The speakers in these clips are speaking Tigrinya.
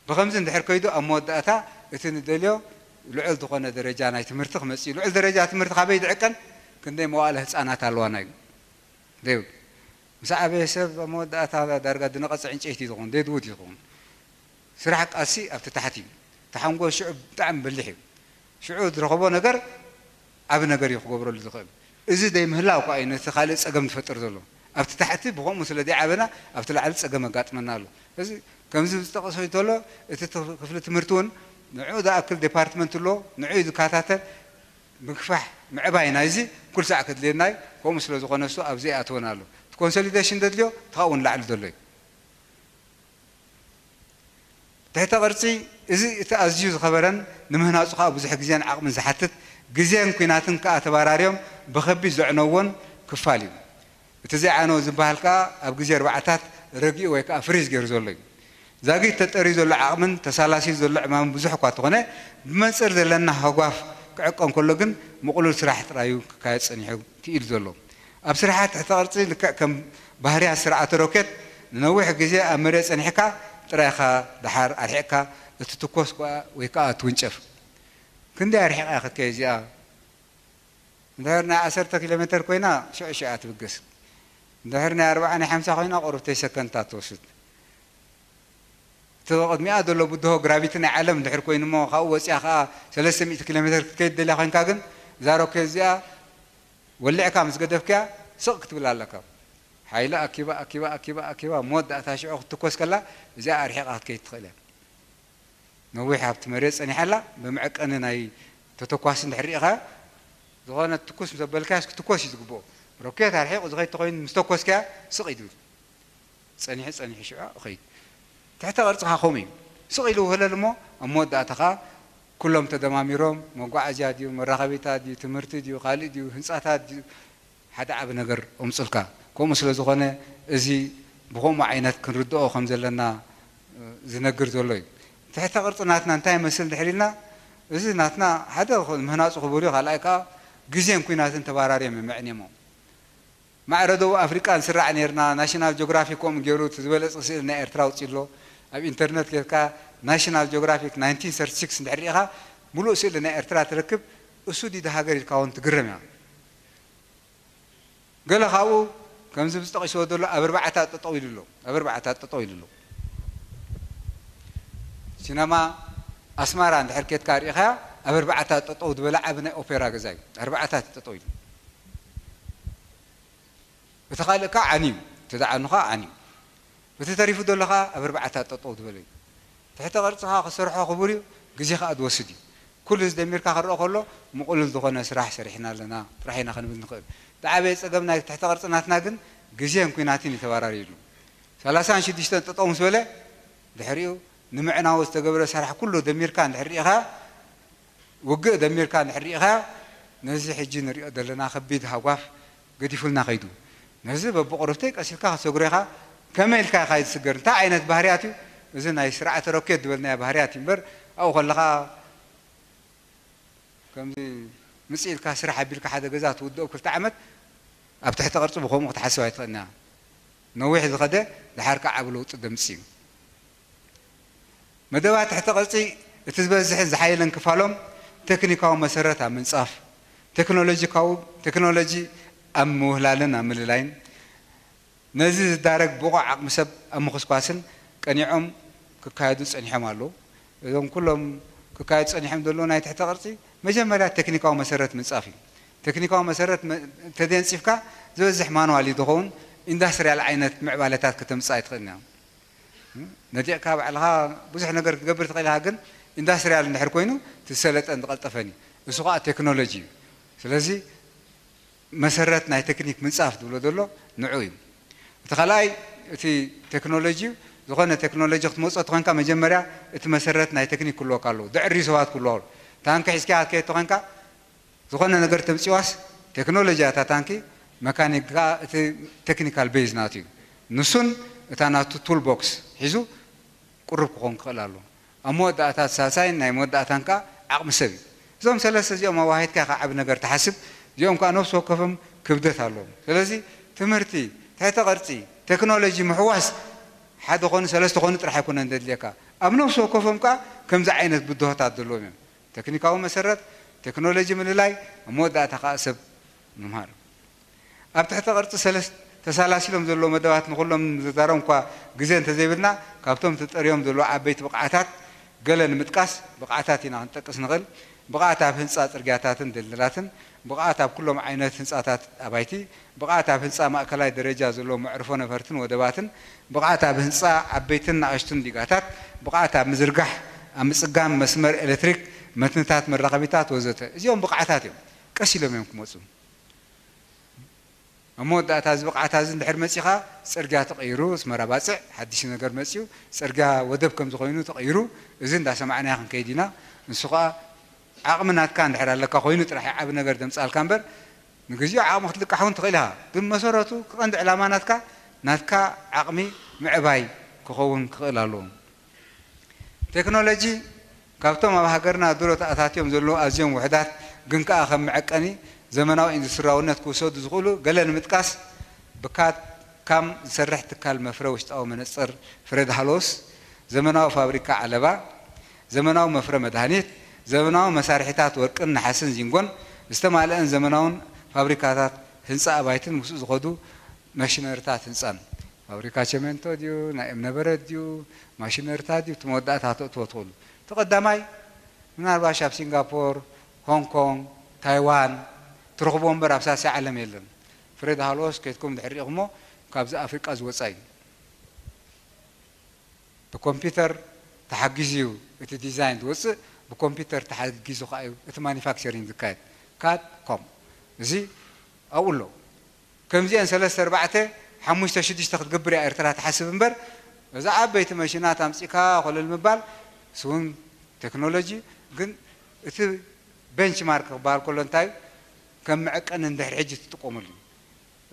ብኸምዚ እንድሕር ከይዱ ኣብ መወዳእታ እቲ ንደልዮ ልዑል ዝኾነ ደረጃ ናይ ትምህርቲ ክመጽእ እዩ። ልዑል ደረጃ ትምህርቲ ካበይ ዝዕቀን? ክንደይ መዋእለ ህፃናት ኣለዋና እዩ ዘይብል። ምስ ዓበየ ሰብ ኣብ መወዳእታ ዳርጋ ዝነቐጸ ዕንጨይቲ እዩ ዝኸውን፣ ደድውድ እዩ ዝኸውን። ስራሕ ቃልሲ ኣብቲ ታሕቲ እዩ። ተሓንጎ ሽዑ ብጣዕሚ በሊሕ እዩ። ሽዑ ዝረኸቦ ነገር ዓቢ ነገር እዩ ክገብረሉ ዝኽእል። እዚ ዘይምህላው እኳ እዩ ነቲ ካልእ ጸገም ዝፈጥር ዘሎ። ኣብቲ ታሕቲ ብኸምኡ ስለ ዘይዓበና ኣብቲ ላዕሊ ጸገም ኣጋጥመና ኣሎ። እዚ ከምዚ ዝጠቐሶ እንተሎ እቲ ት- ክፍሊ ትምህርቲ እውን ንዑ ዝኣክል ዴፓርትመንት ኣሎ፣ ንዑ እዩ ዝከታተል። ምግፋሕ ምዕባይ ናይዚ ኩሉ ሳዕ ከድልየና እዩ። ከምኡ ስለ ዝኾነ እሱ ኣብዚ ይኣትወና ኣሎ። እቲ ኮንሶሊዴሽን ዘድልዮ እቲ ካብኡ ንላዕሊ ዘሎ እዩ። ትሕተ ቅርጺ እዚ እቲ ኣዝዩ ዝኸበረን ንምህናጹ ከኣ ብዙሕ ግዜን ዓቕምን ዝሓትት፣ ግዜን ኲናትን ከኣ ተባራርዮም ብኸቢድ ዘዕነዎን ክፋል እዩ። እቲ ዘይዓነወ ዝበሃል ከኣ ኣብ ግዜ ኣርባዓታት ረጊኡ ወይ ከኣ ፍሪዝ ገይሩ ዘሎ እዩ። ዛጊት ተጠርዩ ዘሎ ዓቕምን ተሳላስዩ ዘሎ ዕማምን ብዙሕ እኳ እንተኾነ፣ ብመንጽር ዘለና ሃጓፍ ክዕቀን ከሎ ግን ምቕሉል ስራሕ ጥራዩ ክካየድ ጸኒሑ ክኢሉ ዘሎ። ኣብ ስራሓት ትሕተ ቅርጺ ልክዕ ከም ባህርያት ስርዓተ ሮኬት ንነዊሕ ግዜ ኣብ መሬት ጸኒሕካ ጥራይኻ ደሓር ኣርሒቕካ እትትኮስ ከኣ ወይ ከኣ እትውንጨፍ። ክንደይ ኣርሒቓ ክትከይድ እዚኣ? እንድሕር ናይ ዓሰርተ ኪሎ ሜተር ኮይና ሽዑ ሽዑ እያ ትብገስ። እንድሕር ናይ ኣርብዓ ናይ ሓምሳ ኮይና ቁሩብ ተይ ሰከንድታት ትወስድ። እቲ ቅድሚኣ ዘሎ ብድሆ ግራቪቲ ናይ ዓለም እንድሕር ኮይኑ እሞ ካብኡ ወፂኣ ከዓ ሰለስተ ሚእቲ ኪሎ ሜተር ክትከይድ ደልያ ኮይንካ ግን እዛ ሮኬት እዚኣ ወሊዕካ ምስ ገደፍክያ ስቕ ክትብል ኣለካ። ሓይሊ ኣኪባ ኣኪባ ኣኪባ ኣኪባ መወዳእታ ሽዑ ክትትኮስ ከላ እዚኣ ኣርሒቓ ክትከይድ ትኽእል እያ። ነዊሕ ኣብቲ መሬት ጸኒሓ ኣላ። ብመዐቀኒ ናይ ተተኳሲ እንድሕር ርኢኻ ዝኾነ ትኩስ ምስ ኣበልካያስ ክትኮስ እዩ ዝግብኦ። ሮኬት ኣርሒቑ ዝኸይድ ተኾይኑ ምስ ተኮስካያ ስቕ እዩ ዝብል። ጸኒሑ ጸኒሑ ሽዑ ይኸይድ። ትሕተ ቅርጽኻ ከምኡ እዩ። ስቕ ኢሉ ውህለል እሞ ኣብ መወዳእታ ኸኣ ኩሎም ተደማሚሮም መጓዓዝያ ድዩ፣ መራኸቢታት ድዩ፣ ትምህርቲ ድዩ፣ ካልእ ድዩ፣ ህንጻታት ድዩ፣ ሓደ ዓቢ ነገር ኣምጽልካ። ከምኡ ስለ ዝኾነ እዚ ብኸምኡ ዓይነት ክንርድኦ ከም ዘለና ዝነግር ዘሎ እዩ። ትሕተ ቅርጺ ናትና እንታይ ይመስል እንድሕር ኢልና፣ እዚ ናትና ሓደ ምህናጹ ክቡር እዩ፣ ካልኣይ ከኣ ግዜን ኲናትን ተባራርዮም እዮም መዕንዮሞ። ማዕረ ደቡብ ኣፍሪቃ ንስራዕ ነይርና፣ ናሽናል ጂኦግራፊ ከምኡ ገይሩ እቲ ዝበለጸ ስእሊ ናይ ኤርትራ ኣውጺኡ ኣሎ። ኣብ ኢንተርነት ጌርካ ናሽናል ጂኦግራፊክ ናይንቲን ሰርቲ ሲክስ እንድሕር ርኢኻ፣ ምሉእ ስእሊ ናይ ኤርትራ ትረክብ። እሱ ድዩ ሃገር ኢልካ እውን ትግረም ኢኻ። ገለ ካብኡ ከምዚ ዝጠቒስዎ ዘሎ ኣብ ኣርባዕታ ጠጠው ኢሉ ኣሎ። ኣብ ኣርባዕታ ጠጠው ኢሉ ኣሎ። ሲነማ ኣስመራ እንድሕር ኬድካ ርኢኻያ፣ ኣብ ኣርባዕታ ጠጠው ዝበለ ዓቢ ናይ ኦፔራ ገዛ እዩ። ኣርባዕታ ጠጠው ኢሉ። እቲ ካልእ ከኣ ዓንዩ፣ እቲ ዝዓኑ ከኣ ዓንዩ። እቲ ተሪፉ ዘሎ ከኣ ኣብ ኣርባዕታ ጠጠው ዝበለ እዩ። ትሕተ ቅርጺ ከኣ ክሰርሖ ክቡር እዩ፣ ግዜ ከኣ ዝወስድ እዩ። ኩሉ እዚ ደሚርካ ክረኣ ከሎ ምቕሉል ዝኾነ ስራሕ ሰሪሕና ኣለና ጥራሕ ኢና ክንብል ንኽእል። ዝዓበየ ጸገም ናይ ትሕተ ቅርጺ ናትና ግን ግዜን ኲናትን እዩ ተባራርዩሉ። ሰላሳን ሽዱሽተን ጠጠው ምስ በለ ድሕሪኡ ንምዕናው ዝተገብረ ስራሕ ኩሉ ደሚርካ እንድሕር ርኢኻ፣ ውግእ ደሚርካ እንድሕር ርኢኻ፣ ነዚ ሕጂ ንሪኦ ዘለና ከቢድ ሃጓፍ ገዲፉልና ከይዱ። ነዚ በብቕሩብተይ ቀስ ኢልካ ክትሰግሮ ኢኻ። ከመይ ኢልካ ኢኻ ዝስገር? እንታይ ዓይነት ባህርያት እዩ? እዚ ናይ ስርዓተ ሮኬት ዝበልናዮ ባህርያት እዩ እምበር፣ ኣብኡ ከለኻ ከምዚ ምጽእ ኢልካ ስራሕ ኣቢልካ ሓደ ገዛ ትውድኦ ክልተ ዓመት ኣብ ትሕቲ ቅርጺ ብኸምኡ ክትሓስብ ኣይትኽእልን ኢኻ። ነዊሕ ዝኸደ ደሓር ከኣ ዓቢ ለውጢ ዘምጽእ እዩ። መደባት ትሕተ ቅርጺ እቲ ዝበዝሕን ዝሓየለን ክፋሎም ቴክኒካዊ መሰረት ኣብ ምንጻፍ፣ ቴክኖሎጂካዊ ቴክኖሎጂ ኣብ ምውህላልን ኣብ ምልላይን፣ ነዚ ዝዳረግ ብቑዕ ዓቕሚ ሰብ ኣብ ምኹስኳስን ቀኒዖም ክካየዱ ጸኒሖም ኣለዉ። እዞም ኩሎም ክካየዱ ጸኒሖም ዘለዉ ናይ ትሕተ ቅርጺ መጀመርያ ቴክኒካዊ መሰረት ምንጻፍ እዩ። ቴክኒካዊ መሰረት መ-፣ እንተዘየንጺፍካ ዝበዝሕ ማንዋል እዩ ዝኸውን፣ ኢንዳስትርያል ዓይነት ምዕባለታት ከተምጽእ ኣይትኽእልን እያ። ነዲቕካ ባዕልኻ ብዙሕ ነገር ክትገብር ትኽእል ኢኻ፣ ግን ኢንዳስትርያል እንድሕር ኮይኑ እቲ ዝሰለጠን ዝቐልጠፈን እዩ። እሱ ኸኣ ቴክኖሎጂ እዩ። ስለዚ መሰረት ናይ ቴክኒክ ምንጻፍ ዝብሎ ዘሎ ንዑ እዩ። እቲ ካልኣይ እቲ ቴክኖሎጂ እዩ። ዝኾነ ቴክኖሎጂ ክትመጾ ተኾንካ መጀመርያ እቲ መሰረት ናይ ቴክኒክ ክህልወካ ኣለዎ። ዘዕርዩ ሰባት ክህልዎ ኣለዎ። ታንኪ ሒዝካ ክትከይድ ተኾንካ ዝኾነ ነገር ተምጽዋስ ቴክኖሎጂ እታ ታንኪ፣ መካኒክ ከኣ እቲ ቴክኒካል ቤዝ ናቱ እዩ። ንሱን እታ ናቱ ቱል ቦክስ ሒዙ ቅሩብ ክኾን ክኽእል ኣለዎ። ኣብ መወዳእታ እቲ ሳልሳይን ናይ መወዳእታን ከኣ ዓቕሚ ሰብ እዩ። እዞም ሰለስተ እዚኦም ኣዋሂድካ ኢኻ ዓቢ ነገር ትሓስብ። እዚኦም ከኣ ነፍሲ ወከፎም ክብደት ኣለዎም። ስለዚ ትምህርቲ፣ ትሕተ ቅርጺ፣ ቴክኖሎጂ ምሕዋስ ሓደ ኮኑ ሰለስተ ኮኑ ጥራሕ ኣይኮነን ዘድልየካ። ኣብ ነፍሲ ወከፎም ከኣ ከምዚ ዓይነት ብድሆታት ዘለዎም እዮም። ቴክኒካዊ መሰረት፣ ቴክኖሎጂ ምልላይ፣ ኣብ መወዳእታ ከኣ ሰብ ምምሃር። ኣብ ትሕተ ቅርጺ ሰለስተ ተሳላሲሎም ዘለዉ መደባት ንኹሎም ዝዛረብ እኳ ግዜ እንተዘይብልና፣ ካብቶም ተጠርዮም ዘለዉ ዓበይቲ ብቕዓታት ገለ ንምጥቃስ ብቕዓታት ኢና ክንጠቅስ ንኽእል። ብቕዓት ኣብ ህንጻ ጽርግያታትን ድልድላትን፣ ብቕዓት ኣብ ኩሎም ዓይነት ህንጻታት ኣባይቲ፣ ብቕዓት ኣብ ህንጻ ማእከላይ ደረጃ ዘለዎም መዕርፎ ነፈርትን ወደባትን፣ ብቕዓት ኣብ ህንጻ ዓበይትን ንኣሽቱን ዲጋታት፣ ብቕዓት ኣብ ምዝርጋሕ፣ ኣብ ምጽጋም መስመር ኤሌክትሪክ፣ መትንታት መራኸቢታት ወዘተ። እዚኦም ብቕዓታት እዮም። ቀስ ኢሎም እዮም ክመጹ። ኣብ መወዳእታ እዚ ብቕዓት እዚ እንድሕር መጺኻ፣ ጽርግያ ተቐይሩ፣ ኣስመራ ባጽዕ ሓድሽ ነገር መጺኡ፣ ጽርግያ ወደብ ከምዚ ኮይኑ ተቐይሩ፣ እዚ እንዳሰማዕናዮ ክንከይድ ኢና። ንሱ ኸኣ ዓቕሚ ናትካ እንድሕር ኣለካ ኮይኑ ጥራሕ እዩ ዓቢ ነገር ዘምጻልካ እምበር፣ ንግዚኡ ዓቕሚ ክትልቃሕ እውን ትኽእል ኢኻ። ግን መሰረቱ፣ ቀንዲ ዕላማ ናትካ፣ ናትካ ዓቕሚ ምዕባይ ክኸውን ክኽእል ኣለዎ። ቴክኖሎጂ ካብቶም ኣብ ሃገርና ድሮ ተኣታትዮም ዘለዉ ኣዝዮም ውሑዳት ግን ከኣ ከም መዐቀኒ ዘመናዊ ኢንዱስትሪያውነት ክውሰዱ ዝኽእሉ ገለ ንምጥቃስ፣ ብካድ ካም ዝሰርሕ ትካል መፍረ ውሽጣዊ መነጽር ፍሬድ ሃሎስ፣ ዘመናዊ ፋብሪካ ዓለባ፣ ዘመናዊ መፍረ መድሃኒት፣ ዘመናዊ መሳርሒታት ወርቅን ነሓስን ዚንጎን ዝተማልአን ዘመናውን ፋብሪካታት ህንጻ ኣባይትን ምስኡ ዝኸዱ ማሽነሪታት ህንጻን። ፋብሪካ ቸሜንቶ ድዩ፣ ናይ እምነበረድ ድዩ፣ ማሽነሪታት ድዩ፣ እቲ መወዳእታ ከተእትዎ ትኽእሉ። እቲ ቀዳማይ ምናልባሽ ኣብ ሲንጋፖር፣ ሆንግ ኮንግ፣ ታይዋን ትረኽብዎ እምበር ኣብ ሳልሳይ ዓለም የለን። ፍሬድ ሃሎስ ከይድኩም ድሕር ሪእኹሞ ካብዚ ኣፍሪቃ ዝወጻ እዩ። ብኮምፒውተር ተሓጊዙ እዩ እቲ ዲዛይን ዝወጽእ፣ ብኮምፒውተር ተሓጊዙ ከኣ እዩ እቲ ማኒፋክቸሪንግ ዝካየድ። ካድ ኮም እዚ ኣብኡ ኣሎ። ከምዚአን ሰለስተ ኣርባዕተ ሓሙሽተ ሽዱሽተ ክትገብር እያ ኤርትራ ትሓስብ እምበር፣ እዛ ዓበይቲ መሽናት ኣምጺእካ ኮለል ምባል ስውን ቴክኖሎጂ፣ ግን እቲ ቤንችማርክ ክበሃል ከሎ እንታይ እዩ? ከም መዐቀኒ እንድሕር ሕጂ ትጥቀመሉ።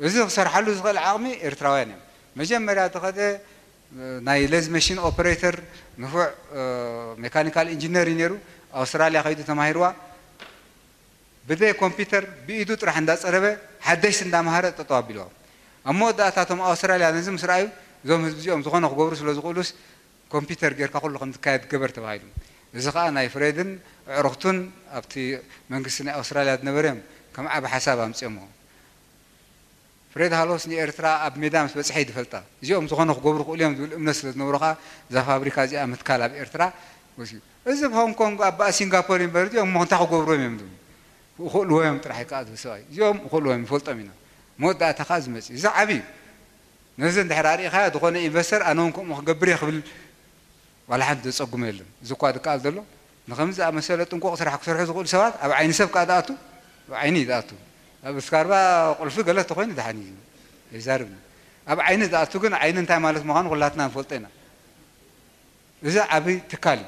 እዚ ክሰርሓሉ ዝኽእል ዓቕሚ ኤርትራውያን እዮም። መጀመርያ ዝኸደ ናይ ሌዝ መሽን ኦፐሬተር ንፉዕ ሜካኒካል ኢንጂነር እዩ ነይሩ። ኣውስትራልያ ከይዱ ተማሂርዋ። ብዘይ ኮምፒውተር ብኢዱ ጥራሕ እንዳጸረበ ሓደሽቲ እንዳምሃረ ጠጠው ኣቢልዋ። ኣብ መወዳእታ እቶም ኣውስትራልያ ነዚ ምስ ረኣዩ፣ እዞም ህዝቢ እዚኦም ዝኾነ ክገብሩ ስለ ዝኽእሉስ ኮምፒውተር ጌርካ ኩሉ ከም ዝካየድ ግበር ተባሂሉ። እዚ ኸኣ ናይ ፍሬድን ኣዕሩኽቱን ኣብቲ መንግስቲ ናይ ኣውስትራልያ ዝነበረ እዮም ከም ዓቢ ሓሳብ ኣምጺኦምዎ። ፍሬድ ሃሎስ ንኤርትራ ኣብ ሜዳ ምስ በጽሐ እዩ ዝፈልጣ። እዚኦም ዝኾነ ክገብሩ ክእሉ እዮም ዝብል እምነት ስለ ዝነበሮ ኸኣ እዛ ፋብሪካ እዚኣ ምትካል ኣብ ኤርትራ ወሲኑ። እዚ ኣብ ሆንግ ኮንግ ኣብ ሲንጋፖር እምበር እዚኦም እሞ እንታይ ክገብሩ እዮም እዮም ዝብሉ። ይኽእልዎ እዮም ጥራሕ እዩ ከኣ ዝብል ሰብኣይ። እዚኦም ይኽእልዎ እዮም፣ ንፈልጦም ኢና። መወዳእታ ከኣ ዝመጽእ። እዚ ዓቢ እዩ። ነዚ እንድሕር ኣርኢኻዮ ዝኾነ ኢንቨስተር ኣነ እውን ከምኡ ክገብር እየ ክብል ዋላ ሓንቲ ዘጸግሞ የለን። እዚ እኳ ዝከኣል ዘሎ ንኸምዚ ዝኣመሰለ ጥንቁቕ ስራሕ ክሰርሑ ዝኽእሉ ሰባት ኣብ ዓይኒ ሰብ ከኣ ዝኣቱ፣ ኣብ ዓይኒ እዩ ዝኣቱ። ኣብ እስካርባ ቁልፊ ገለ ተኾይኑ ደሓን እዩ፣ ኣይዛረብን። ኣብ ዓይኒ ዝኣቱ ግን ዓይኒ እንታይ ማለት ምዃኑ ኩላትና ንፈልጦ ኢና። እዚ ዓቢ ትካል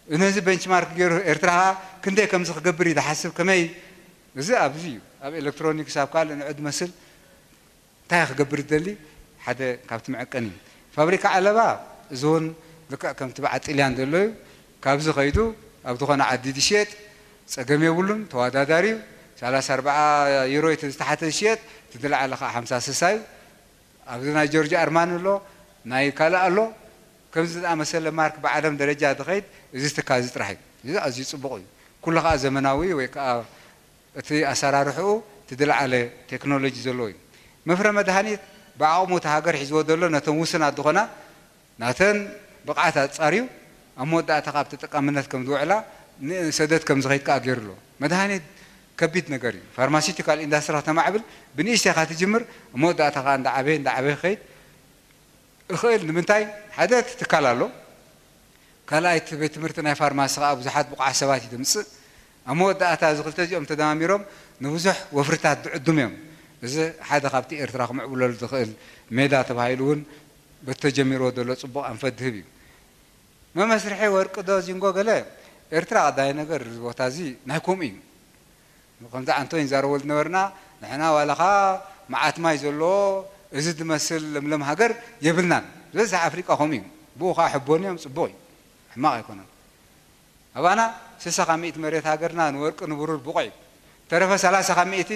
እዩ። ነዚ ቤንችማርክ ገይሩ ኤርትራ ከኣ ክንደይ ከምዚ ክገብር እዩ ዝሓስብ፣ ከመይ፣ እዚ ኣብዚ እዩ። ኣብ ኤሌክትሮኒክስ፣ ኣብ ካልእ ንዑ ዝመስል እንታይ ክገብር ዝደሊ ሓደ ካብቲ መዐቀኒ እዩ። ፋብሪካ ዓለባ እዚ እውን ልክዕ ከምቲ በዓል ጥልያን ዘሎ እዩ። ካብዚ ከይዱ ኣብ ዝኾነ ዓዲ ዝሽየጥ ጸገም የብሉን፣ ተወዳዳሪ እዩ። ሰላሳ ኣርብዓ ዩሮ እቲ ዝተሓተ ዝሽየጥ፣ እቲ ዝለዓለ ከዓ ሓምሳ ስሳ እዩ። ኣብዚ ናይ ጆርጅ ኣርማን ኣሎ፣ ናይ ካልእ ኣሎ። ከምዚ ዝኣመሰለ ማርክ ብዓለም ደረጃ ዝኸይድ እዚ ትካል እዚ ጥራሕ እዩ። እዚ ኣዝዩ ጽቡቕ እዩ። ኩሉ ከዓ ዘመናዊ ወይ ከዓ እቲ ኣሰራርሕኡ እቲ ዝለዓለ ቴክኖሎጂ ዘለዎ እዩ። መፍረ መድሃኒት ብዓቕሙ እቲ ሃገር ሒዝዎ ዘሎ ነተን ውሱናት ዝኾና ናተን ብቕዓት ኣጻርዩ ኣብ መወዳእታ ካብ ተጠቃምነት ከም ዝውዕላ ንሰደድ ከም ዝኸይድ ከኣ ገይሩ ኣሎ። መድሃኒት ከቢድ ነገር እዩ። ፋርማሲውቲካል ኢንዳስትሪ ከተማዕብል ብንእሽተይ ኢኻ ትጅምር፣ ኣብ መወዳእታ ከኣ እንዳዓበየ እንዳዓበየ ክኸይድ እኽእል። ንምንታይ? ሓደ እቲ ትካል ኣሎ፣ ካልኣይ እቲ ቤት ትምህርቲ ናይ ፋርማሲ ከኣ ብዙሓት ብቑዓት ሰባት እዩ ዘምጽእ። ኣብ መወዳእታ እዚ ክልተ እዚኦም ተደማሚሮም ንብዙሕ ወፍርታት ዝዕድሙ እዮም። እዚ ሓደ ካብቲ ኤርትራ ክምዕብለሉ ዝኽእል ሜዳ ተባሂሉ እውን በቲ ተጀሚርዎ ዘሎ ጽቡቕ ኣንፈት ዝህብ እዩ። መመስርሒ ወርቂ ዶ ዚንጎ ገለ? ኤርትራ ቀዳይ ነገር እዚ ቦታ እዚ ናይ ከምኡ እዩ። ከምዚ ኣንቶኒ ንዛረበሉ ዝነበርና ንሕና ዋላኻ መዓት ማይ ዘለዎ እዚ ዝመስል ለምለም ሃገር የብልናን። ዝበዝሕ ኣፍሪቃ ከምኡ እዩ። ብኡ ኸዓ ሕቦን እዮም፣ ጽቡቕ እዩ። ሕማቕ ኣይኮነን። ኣባና ስሳ ካብ ሚእቲ መሬት ሃገርና ንወርቂ ንብሩር ብቑዕ እዩ። ተረፈ ሰላሳ ካብ ሚእቲ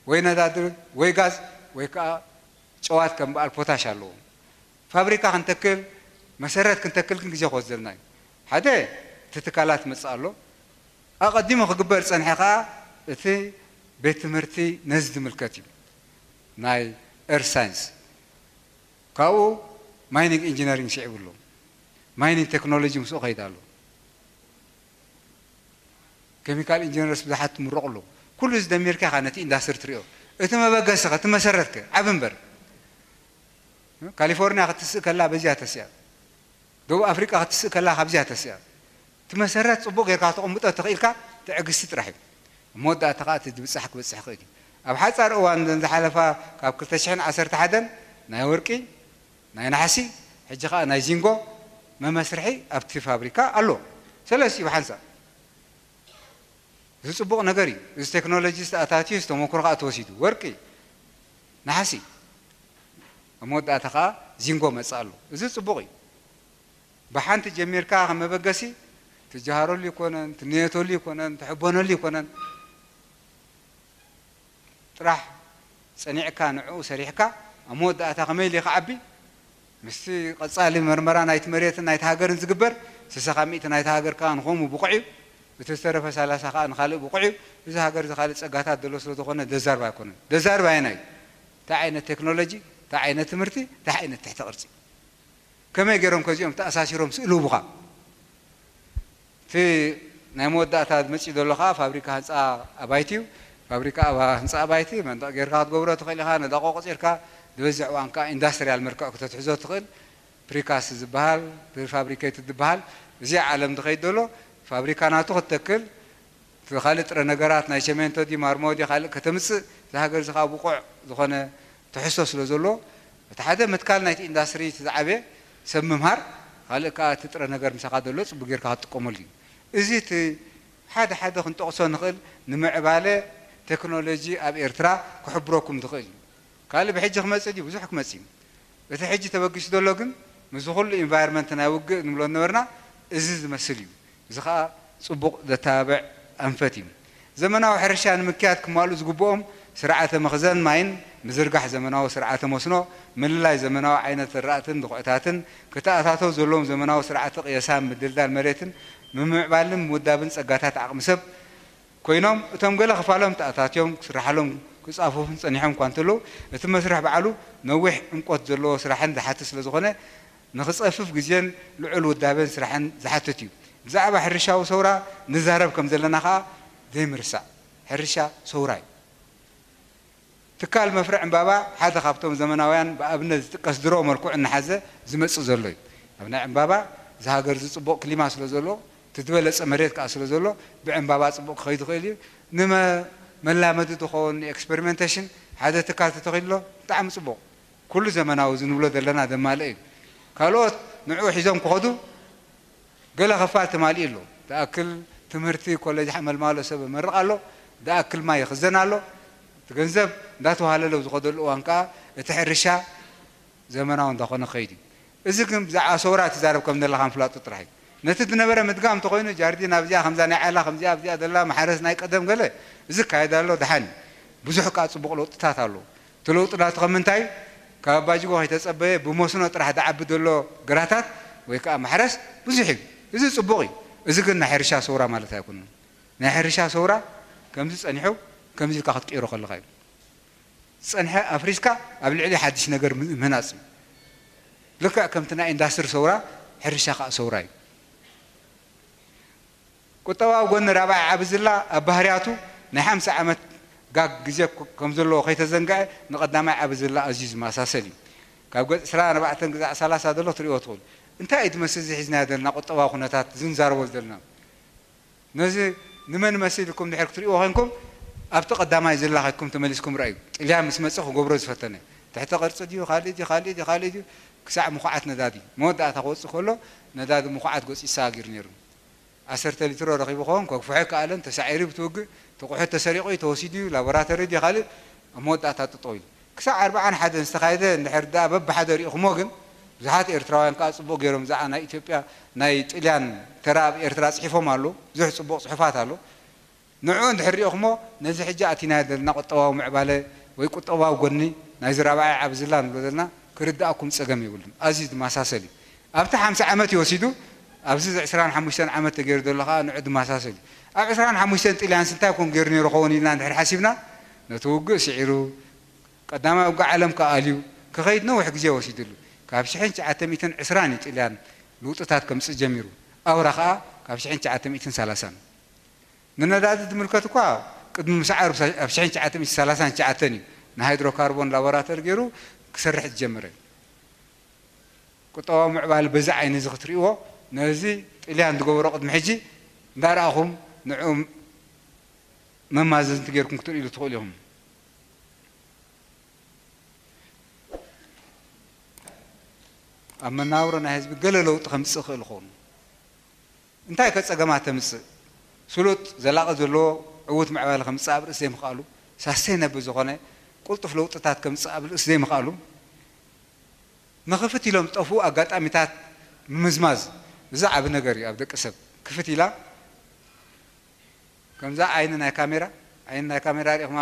ወይ ነዳዲ ወይ ጋዝ ወይ ከዓ ጨዋት ከም በዓል ፖታሽ ኣለዎ። ፋብሪካ ክንተክል መሰረት ክንተክል ግን ግዜ ክወስደልና እዩ። ሓደ እቲ ትካላት መጽእ ኣሎ። ኣቐዲሙ ክግበር ዝጸንሐ ከኣ እቲ ቤት ትምህርቲ ነዚ ዝምልከት እዩ። ናይ ኤርት ሳይንስ ካብኡ ማይኒንግ ኢንጂነሪንግ ስዒቡ ኣሎ። ማይኒንግ ቴክኖሎጂ ምስኡ ከይድ ኣሎ። ኬሚካል ኢንጂነርስ ብዙሓት ትምረቑ ኣለዉ። ኩሉ እዚ ደሚርካ ኢኻ ነቲ ኢንዳስትሪ ትሪኦ። እቲ መበገሲ ኸ፣ እቲ መሰረት ከ ዓቢ እምበር። ካሊፎርኒያ ክትስእ ከላ በዚኣ ተሲኣ። ደቡብ ኣፍሪቃ ክትስእ ከላ ካብዚኣ ተሲኣ። እቲ መሰረት ጽቡቕ ጌርካ ከተቐምጦ ተኽኢልካ ትዕግስቲ ጥራሕ እዩ። እሞ ወዳእታ ኸኣ እቲ ዝብጻሕ ክበጽሕ ይኽእል እዩ። ኣብ ሓጻር እዋን እዘን ዝሓለፋ ካብ ክልተ ሽሕን ዓሰርተ ሓደን ናይ ወርቂ፣ ናይ ነሓሲ፣ ሕጂ ኸኣ ናይ ዚንጎ መመስርሒ ኣብቲ ፋብሪካ ኣሎ። ሰለስቲኡ ብሓንሳእ። እዚ ጽቡቕ ነገር እዩ። እዚ ቴክኖሎጂ ዝተኣታትዩ፣ ዝተመክሮ ከኣ ተወሲዱ። ወርቂ፣ ነሓሲ፣ ኣብ መወዳእታ ከኣ ዚንጎ መጽእ ኣሎ። እዚ ጽቡቕ እዩ። ብሓንቲ ጀሚርካ ከም መበገሲ ትጀሃረሉ ይኮነን፣ ትንየተሉ ይኮነን፣ ትሕበነሉ ይኮነን። ጥራሕ ጸኒዕካ ንዕኡ ሰሪሕካ ኣብ መወዳእታ ከመይ ኢሉ ክዓቢ ምስቲ ቀጻሊ መርመራ ናይቲ መሬትን ናይቲ ሃገርን ዝግበር ስሳ ካብ ሚእቲ ናይቲ ሃገር ከኣ ንኸምኡ ብቑዕ እዩ። እቲ ዝተረፈ ሰላሳ ከኣ ንኻልእ ብቑዕ እዩ። እዚ ሃገር እዚ ካልእ ጸጋታት ዘሎ ስለ ዝኾነ ደዛርባ ኣይኮነን። ደዛርባ ኣየናይ እዩ? እንታይ ዓይነት ቴክኖሎጂ፣ እንታይ ዓይነት ትምህርቲ፣ እንታይ ዓይነት ትሕተ ቅርጺ? ከመይ ገይሮም ከዚኦም ተኣሳሲሮም ስእልውቡኻ? እቲ ናይ መወዳእታ መጺኡ ዘሎ ከኣ ፋብሪካ ህንጻ ኣባይቲ እዩ። ፋብሪካ ኣባ-፣ ህንጻ ኣባይቲ መንደቕ ጌርካ ክትገብሮ ትኽእል ኢኻ። ነዳቖ ቆጺርካ ዝበዝሕ እዋን ከኣ ኢንዳስትርያል መልክዕ ክተትሕዞ ትኽእል። ፕሪካስት ዝበሃል፣ ፕሪፋብሪኬትድ ዝበሃል፣ እዚ ዓለም ዝኸይድ ዘሎ ፋብሪካ ናቱ ክትተክል፣ እቲ ካልእ ጥረ ነገራት ናይ ቸሜንቶ ድዩ ማርሞ ድዩ ካልእ ከተምጽእ፣ እዚ ሃገር እዚ ከኣ ብቑዕ ዝኾነ ትሕዝቶ ስለ ዘሎ፣ እቲ ሓደ ምትካል ናይቲ ኢንዳስትሪ እቲ ዝዓበየ ሰብ ምምሃር፣ ካልእ ከኣ እቲ ጥረ ነገር ምሳኻ ዘሎ ጽቡቕ ጌርካ ክትጥቀመሉ እዩ። እዚ እቲ ሓደ ሓደ ክንጠቕሶ ንኽእል ንምዕባለ ቴክኖሎጂ ኣብ ኤርትራ ክሕብረኩም ዝኽእል እዩ። ካልእ ብሕጂ ክመጽእ ድዩ? ብዙሕ ክመጽእ እዩ። እቲ ሕጂ ተበጊሱ ዘሎ ግን ምስዚ ኩሉ ኢንቫይሮንመንት ናይ ውግእ ንብሎ ዝነበርና እዚ ዝመስል እዩ። እዚ ኸኣ ጽቡቕ ዘተባብዕ ኣንፈት እዩ። ዘመናዊ ሕርሻ ንምክያድ ክማልኡ ዝግብኦም ስርዓተ መኽዘን ማይን ምዝርጋሕ ዘመናዊ ስርዓተ መስኖ፣ ምልላይ ዘመናዊ ዓይነት ዘራእትን ድኹዕታትን፣ ክተኣታተው ዘለዎም ዘመናዊ ስርዓተ ቅየሳን ምድልዳል መሬትን፣ ምምዕባልን ምውዳብን ጸጋታት ዓቕሚ ሰብ ኮይኖም፣ እቶም ገለ ክፋሎም ተኣታትዮም ክስርሓሎም ክጻፈፉን ጸኒሖም እኳ እንተለዉ፣ እቲ መስርሕ ባዕሉ ነዊሕ ዕምቆት ዘለዎ ስራሕን ዝሓትት ስለ ዝኾነ፣ ንኽጸፍፍ ግዜን ልዑል ውዳቤን ስራሕን ዝሓትት እዩ። ብዛዕባ ሕርሻዊ ሰውራ ንዛረብ ከም ዘለና ከኣ ዘይምርሳዕ፣ ሕርሻ ሰውራ እዩ። ትካል መፍረ ዕምባባ ሓደ ካብቶም ዘመናውያን ብኣብነት ዝጥቀስ ድሮ መልክዑ እናሓዘ ዝመጽእ ዘሎ እዩ። ኣብ ናይ ዕምባባ እዚ ሃገር እዚ ጽቡቕ ክሊማ ስለ ዘሎ፣ እቲ ዝበለጸ መሬት ከኣ ስለ ዘሎ፣ ብዕምባባ ጽቡቕ ክኸይድ ይኽእል እዩ። ንመ-፣ መላመዲ ዝኸውን ንኤክስፐሪመንቴሽን ሓደ ትካል ተተኺሉ ኣሎ፣ ብጣዕሚ ጽቡቕ። ኩሉ ዘመናዊ እዚ ንብሎ ዘለና ዘማልእ እዩ። ካልኦት ንዕኡ ሒዞም ክኸዱ ገለ ክፋል ተማሊኡ ኣሎ። ዝኣክል ትምህርቲ ኮሌጅ ሓመልማሎ ሰብ መርቕ ኣሎ፣ ዝኣክል ማይ ይኽዘን ኣሎ። እቲ ገንዘብ እንዳተዋሃለለ ኣብ ዝኸደሉ እዋን ከኣ እቲ ሕርሻ ዘመናዊ እንዳኾነ ክኸይድ እዩ። እዚ ግን ብዛዕባ ሰውራ ትዛረብ ከም ዘለኻ ምፍላጡ ጥራሕ እዩ። ነቲ ዝነበረ ምድጋም እንተኾይኑ ጃርዲን ኣብዚኣ ከምዛ ናይ ዓላ ከምዚኣ ኣብዚኣ ዘላ ማሕረስ ናይ ቀደም ገለ እዚ ይካየድ ኣሎ፣ ደሓን እዩ። ብዙሕ ከኣ ጽቡቕ ለውጥታት ኣሎ። እቲ ለውጢ ናቱ ከም ምንታይ? ካብ ኣባጅጎ ከይተጸበየ ብመስኖ ጥራሕ ዝዓቢ ዘሎ ግራታት ወይ ከኣ ማሕረስ ብዙሕ እዩ። እዚ ጽቡቕ እዩ። እዚ ግን ናይ ሕርሻ ሰውራ ማለት ኣይኮነን። ናይ ሕርሻ ሰውራ ከምዚ ጸኒሑ ከምዚ ኢልካ ክትቅይሮ ከለኻ እዩ። ዝጸንሐ ኣፍሪስካ ኣብ ልዕሊ ሓድሽ ነገር ም-፣ ምህናጽ እዩ። ልክዕ ከምቲ ናይ ኢንዳስትሪ ሰውራ፣ ሕርሻ ከኣ ሰውራ እዩ። ቁጠባዊ ጎኒ ራብዓይ ዓቢ ዝላ ኣብ ባህርያቱ ናይ ሓምሳ ዓመት ጋግ ግዜ ኮ-፣ ከም ዘለዎ ከይተዘንግዐ ንቐዳማይ ዓቢ ዝላ ኣዝዩ ዝመሳሰል እዩ። ካብ ገጽ ዕስራን ኣርባዕተን ክሳዕ ሰላሳ ዘሎ ክትሪኦ ትኽእሉ። እንታይ እዩ ዝመስል እዚ ሒዝናዮ ዘለና ቁጠባዊ ኩነታት፣ እዚ ንዛረበሉ ዘለና? ነዚ ንመን መሲልኩም ድሕር ክትሪእዎ ኮንኩም፣ ኣብቲ ቀዳማይ ዝላ ከድኩም ተመሊስኩም ረኣዩ። ጥልያን ምስ መጸ ክገብሮ ዝፈተነ። ትሕተ ቅርጺ ድዩ፣ ካልእ ድዩ፣ ካልእ ድዩ፣ ካልእ ድዩ፣ ክሳዕ ምኹዓት ነዳዲ። መወዳእታ ክወጽእ ከሎ፣ ነዳዲ ምኹዓት ገጹ ይሰጋገር ነይሩ። ዓሰርተ ሊትሮ ረኺቡ ኸውን፣ ከግፍሖ ኣይከኣለን፣ ተሳዒሩ ብትውግእ፣ እቲ ቁሑት ተሰሪቑ እዩ፣ ተወሲዱ እዩ፣ ላቦራቶሪ ድዩ፣ ካልእ፣ ኣብ መወዳእታ ጠጠው ኢሉ። ክሳዕ ኣርብዓን ሓደን ዝተኻየደ እንድሕር ደኣ በብሓደ ሪእኹሞ ግን፣ ብዙሓት ኤርትራውያን ከኣ ጽቡቕ ገይሮም ብዛዕባ ናይ ኢትዮጵያ፣ ናይ ጥልያን ተራ ኣብ ኤርትራ ጽሒፎም ኣለዉ። ብዙሕ ጽቡቕ ጽሑፋት ኣሎ። ንዕኡ እንድሕር ሪእኹሞ፣ ነዚ ሕጂ ኣቲናዮ ዘለና ቁጠባዊ ምዕባለ ወይ ቁጠባዊ ጎኒ ናይዚ ራብዓይ ዓቢ ዝላ ንብሎ ዘለና ክርድኣኩም ጸገም የብሉን። ኣዝዩ ዝመሳሰል እዩ። ኣብቲ ሓምሳ ዓመት እዩ ወሲዱ። ኣብዚ ዕስራን ሓሙሽተን ዓመት ተገይሩ ዘሎ ከዓ ንዑ ድማሳሰል እዩ። ኣብ ዕስራን ሓሙሽተን ጥልያንስ እንታይ ኮን ገይሩ ነይሩ ኸውን ኢልና እንድሕር ሓሲብና፣ ነቲ ውግእ ስዒሩ፣ ቀዳማይ ውግእ ዓለም ከዓ ኣልዩ ክኸይድ ነዊሕ ግዜ ወሲድሉ። ካብ ሽሕን ትሽዓተ ሚእትን ዕስራን እዩ ጥልያን ልውጥታት ከምፅእ ጀሚሩ። ኣውራ ከዓ ካብ ሽሕን ትሽዓተ ሚእትን ሰላሳን። ንነዳዲ ዝምልከት እኳ ቅድሚ ምስዓሩ ኣብ ሽሕን ትሽዓተ ሚእትን ሰላሳን ትሽዓተን እዩ ንሃይድሮካርቦን ላቦራቶሪ ገይሩ ክሰርሕ ዝጀመረ። ቁጠባዊ ምዕባለ በዚ ዓይኒ እዚ ክትርእይዎ፣ ነዚ ጥልያን ዝገበሮ ቅድሚ ሕጂ እንዳረኣኹም ንዕኡ መማዘንቲ ገይርኩም ክትርእይሉ ትኽእሉ ኢኹም። ኣብ መናብሮ ናይ ህዝቢ ገለ ለውጢ ከምፅእ ይኽእል ይኸውን። እንታይ ከ ጸገማት ተምጽእ? ስሉጥ፣ ዘላቒ ዘለዎ ዕዉት ምዕባለ ከምጽእ ኣብ ርእሲ ዘይምኽኣሉ፣ ሳስተይነብል ዝኾነ ቅልጡፍ ለውጥታት ከምጽእ ኣብ ርእሲ ዘይምኽኣሉ፣ ንኽፍት ኢሎም ዝጠፍኡ ኣጋጣሚታት ምምዝማዝ፣ እዚ ዓቢ ነገር እዩ ኣብ ደቂ ሰብ። ክፍት ኢላ፣ ከምዛ ዓይኒ ናይ ካሜራ፣ ዓይኒ ናይ ካሜራ ርኢኹማ፣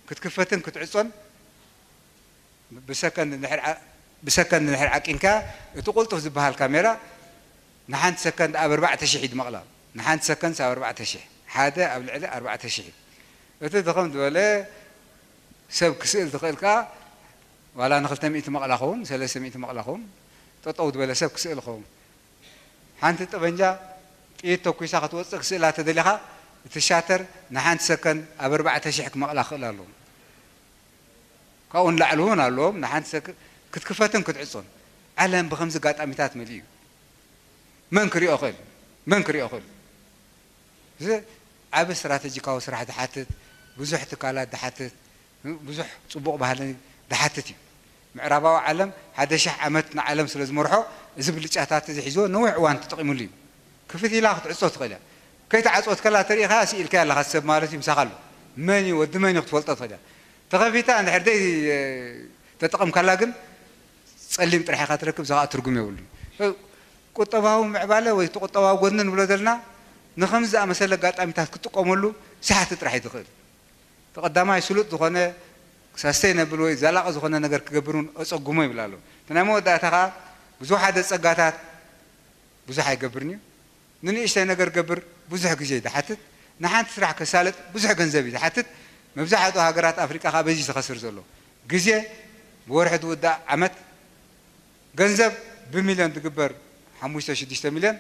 ክትክፈትን ክትዕጾን ብሰከንድ እንድሕር ዓ-፣ ብሰከንድ እንድሕር ዓቂንካ፣ እቲ ቅልጡፍ ዝበሃል ካሜራ ንሓንቲ ሰከንድ ኣብ ኣርባዕተ ሽሕ እዩ ዝመቕላ። ንሓንቲ ሰከንድ ኣብ ኣርባዕተ ሽሕ፣ ሓደ ኣብ ልዕሊ ኣርባዕተ ሽሕ እዩ። እቲ ድኽም ዝበለ ሰብ ክስእል ዝኽእል ከኣ ዋላ ንክልተ ሚእቲ መቕላ ኸውን፣ ሰለስተ ሚእቲ መቕላ ኸውን፣ ጠጠው ዝበለ ሰብ ክስእል ኸውን። ሓንቲ ጠበንጃ ጥይት ተኩሳ ክትወፅእ ክስእላ ተደሊኻ፣ እቲ ሻተር ንሓንቲ ሰከንድ ኣብ ኣርባዕተ ሽሕ ክመቕላ ክኽእል ኣለዎ። ካብኡ ንላዕሊ እውን ኣለዎም። ንሓንቲ ሰክ-፣ ክትክፈትን ክትዕጾን። ዓለም ብኸምዚ ኣጋጣሚታት መሊኡ እዩ። መን ክሪኦ ክእል? መን ክሪኦ ክእል? እዚ ዓቢ ስትራተጂካዊ ስራሕ ዝሓትት፣ ብዙሕ ትካላት ዝሓትት፣ ብዙሕ ጽቡቕ ባህሊ ዝሓትት እዩ። ምዕራባዊ ዓለም ሓደ ሽሕ ዓመት ንዓለም ስለ ዝመርሖ፣ እዚ ብልጫታት እዚ ሒዝዎ ነዊሕ እዋን ተጠቒሙሉ እዩ። ክፍት ኢላ ክትዕጾ ትኽእል እያ። ከይተዓጽወት ከላ ተሪኢኻ ስኢልካያ ኣለኻ ሰብ ማለት እዩ፣ ምሳኻ ኣሎ። መን እዩ፣ ወዲ መን እዩ ክትፈልጦ ትኽእል እያ። ተኸፊታ እንድሕር ደይ ተጠቐምካላ ግን ጸሊም ጥራሕ ኢኻ ትረክብ፣ እዚ ኸኣ ትርጉም የብሉን። ቁጠባዊ ምዕባለ ወይ እቲ ቁጠባዊ ጎድኒ ንብሎ ዘለና ንኸምዚ ዝኣመሰለ ኣጋጣሚታት ክትጥቀመሉ ሰሓቲ ጥራሕ እዩ ዝኽእል። እቲ ቀዳማይ ስሉጥ ዝኾነ ሳስተይነብል ወይ ዘላቒ ዝኾነ ነገር ክገብር እውን ኣጸጉሞ ይብል ኣሎ። እቲ ናይ መወዳእታ ኸኣ ብዙሓት ጸጋታት ብዙሕ ኣይገብርን እዩ። ንንእሽተይ ነገር ገብር ብዙሕ ግዜ እዩ ዝሓትት። ንሓንቲ ስራሕ ከሳልጥ ብዙሕ ገንዘብ እዩ ዝሓትት። መብዛሕትኡ ሃገራት ኣፍሪቃ ኸኣ በዚ እዩ ዝኸስር ዘሎ። ግዜ ብወርሒ ዝውዳእ ዓመት፣ ገንዘብ ብሚልዮን ዝግበር ሓሙሽተ ሽዱሽተ ሚልዮን፣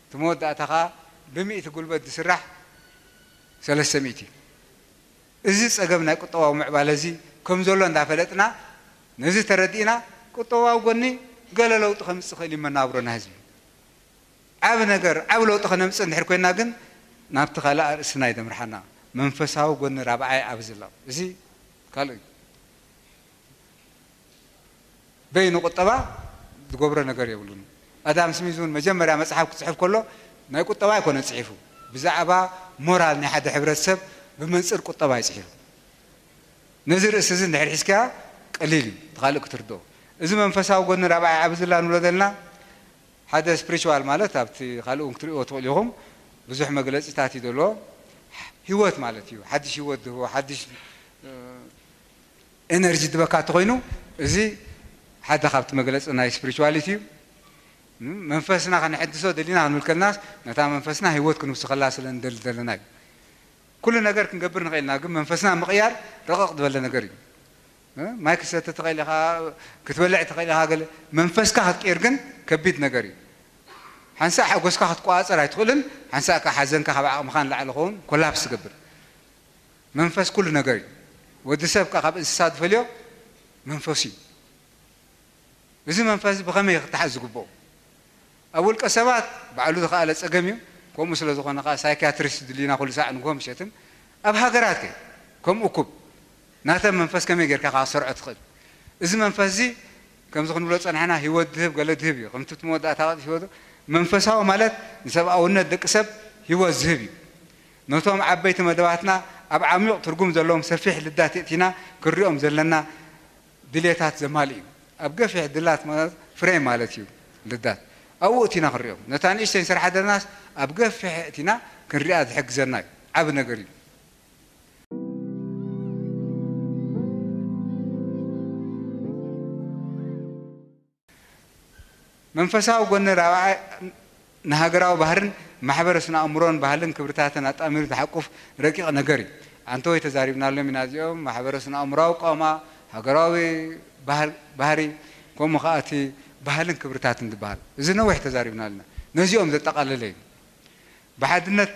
እቲ መወዳእታ ኸኣ ብሚእቲ ጉልበት ዝስራሕ ሰለስተ ሚእቲ። እዚ ጸገም ናይ ቁጠባዊ ምዕባለ እዚ ከም ዘሎ እንዳፈለጥና፣ ነዚ ተረዲእና፣ ቁጠባዊ ጎኒ ገለ ለውጢ ከምጽእ ይኽእል እዩ መናብሮና ህዝቢ። ዓቢ ነገር፣ ዓቢ ለውጢ ከነምጽእ እንድሕር ኮይና ግን ናብቲ ካልእ ኣርእስትና እዩ ዘምርሓና። መንፈሳዊ ጎኒ ራብዓይ ዓቢ ዝላ። እዚ ካልእ እዩ። በይኑ ቁጠባ ዝገብሮ ነገር የብሉን። ኣዳም ስሚዝ እውን መጀመርያ መጽሓፍ ክጽሕፍ ከሎ ናይ ቁጠባ ኣይኮነን ጽሒፉ። ብዛዕባ ሞራል ናይ ሓደ ሕብረተሰብ ብመንጽር ቁጠባ እዩ ጽሒፉ። ነዚ ርእሲ እዚ እንድሕር ሒዝካያ ቀሊል እዩ፣ እቲ ካልእ ክትርድኦ። እዚ መንፈሳዊ ጎኒ ራብዓይ ዓቢ ዝላ ንብሎ ዘለና፣ ሓደ ስፕሪቹዋል ማለት ኣብቲ ካልእ እውን ክትርእይዎ ትኽእሉ ኢኹም፣ ብዙሕ መግለጺታት እዩ ዘለዎ። ህይወት ማለት እዩ። ሓድሽ ህይወት ዝህቦ፣ ሓድሽ፣ እ፣ ኤነርጂ ድበካ እንተኾይኑ፣ እዚ ሓደ ካብቲ መግለጺ ናይ ስፕሪቹዋሊቲ እዩ። ም-፣ መንፈስና ከነሐድሶ ደሊና ክንብል ከለናስ፣ ነታ መንፈስና ህይወት ክንውስኸላ ስለ ንደሊ ዘለና እዩ። ኩሉ ነገር ክንገብር ንኽእል ኢና፣ ግን መንፈስና ምቕያር ረቐቕ ዝበለ ነገር እዩ። እ፣ ማይ ክትሰቲ ትኽእል ኢኻ፣ ክትበልዕ ትኽእል ኢኻ፣ ገለ መንፈስካ ክትቅይር ግን ከቢድ ነገር እዩ። ሓንሳእ ሓጎስካ ክትቆጻጸር ኣይትኽእልን፣ ሓንሳእ ከኣ ሓዘንካ ካብ ዓቕምኻ ንላዕሊ ክኸውን ኮላፕስ ትገብር። መንፈስ ኩሉ ነገር እዩ። ወዲ ሰብ ከኣ ካብ እንስሳ ዝፈልዮ መንፈሱ እዩ። እዚ መንፈስ እዚ ብኸመይ ክተሓዝ ዝግብኦ? ኣብ ውልቀ ሰባት ባዕሉ ዝኸኣለ ጸገም እዩ። ከምኡ ስለ ዝኾነ ከኣ ሳይኪያትሪስት ድልዩና ኩሉ ሳዕ ንግሆ ምሸትን። ኣብ ሃገራት ከ ከምኡ እኩብ ናተን መንፈስ ከመይ ጌርካ ከኣ ክትሰርዖ ትኽእል? እዚ መንፈስ እዚ ከምዚ ክንብሎ ጸናሕና ህይወት ዝህብ ገለ ዝህብ እዩ። ከምቲ እቲ መወዳእታ ህይወት መንፈሳዊ ማለት ንሰብኣውነት ደቂ ሰብ ህይወት ዝህብ እዩ። ነቶም ዓበይቲ መደባትና ኣብ ዓሚቕ ትርጉም ዘለዎም ሰፊሕ ልዳት የእቲና ክንሪኦም ዘለና ድሌታት ዘማልእ እዩ። ኣብ ገፊሕ ድላት ማለት ፍሬም ማለት እዩ ልዳት። ኣብኡ እቲና ክንሪኦም። ነታ ንእሽተይ ንሰርሓ ዘለናስ ኣብ ገፊሕ እቲና ክንሪኣ ዝሕግዘና እዩ። ዓቢ ነገር እዩ። መንፈሳዊ ጎኒ ራብዓይ ንሃገራዊ ባህርን ማሕበረ ስነ ኣእምሮን ባህልን ክብርታትን ኣጣሚሩ ዝሓቁፍ ረቂቕ ነገር እዩ። ኣንተወይ ተዛሪብናሎም ኢና እዚኦም፣ ማሕበረ ስነ ኣእምሮዊ ቃውማ፣ ሃገራዊ ባህር-፣ ባህሪ፣ ከምኡ ከኣ እቲ ባህልን ክብርታትን ዝበሃል። እዚ ነዊሕ ተዛሪብናልና። ነዚኦም ዘጠቓለለ እዩ። ብሓድነት፣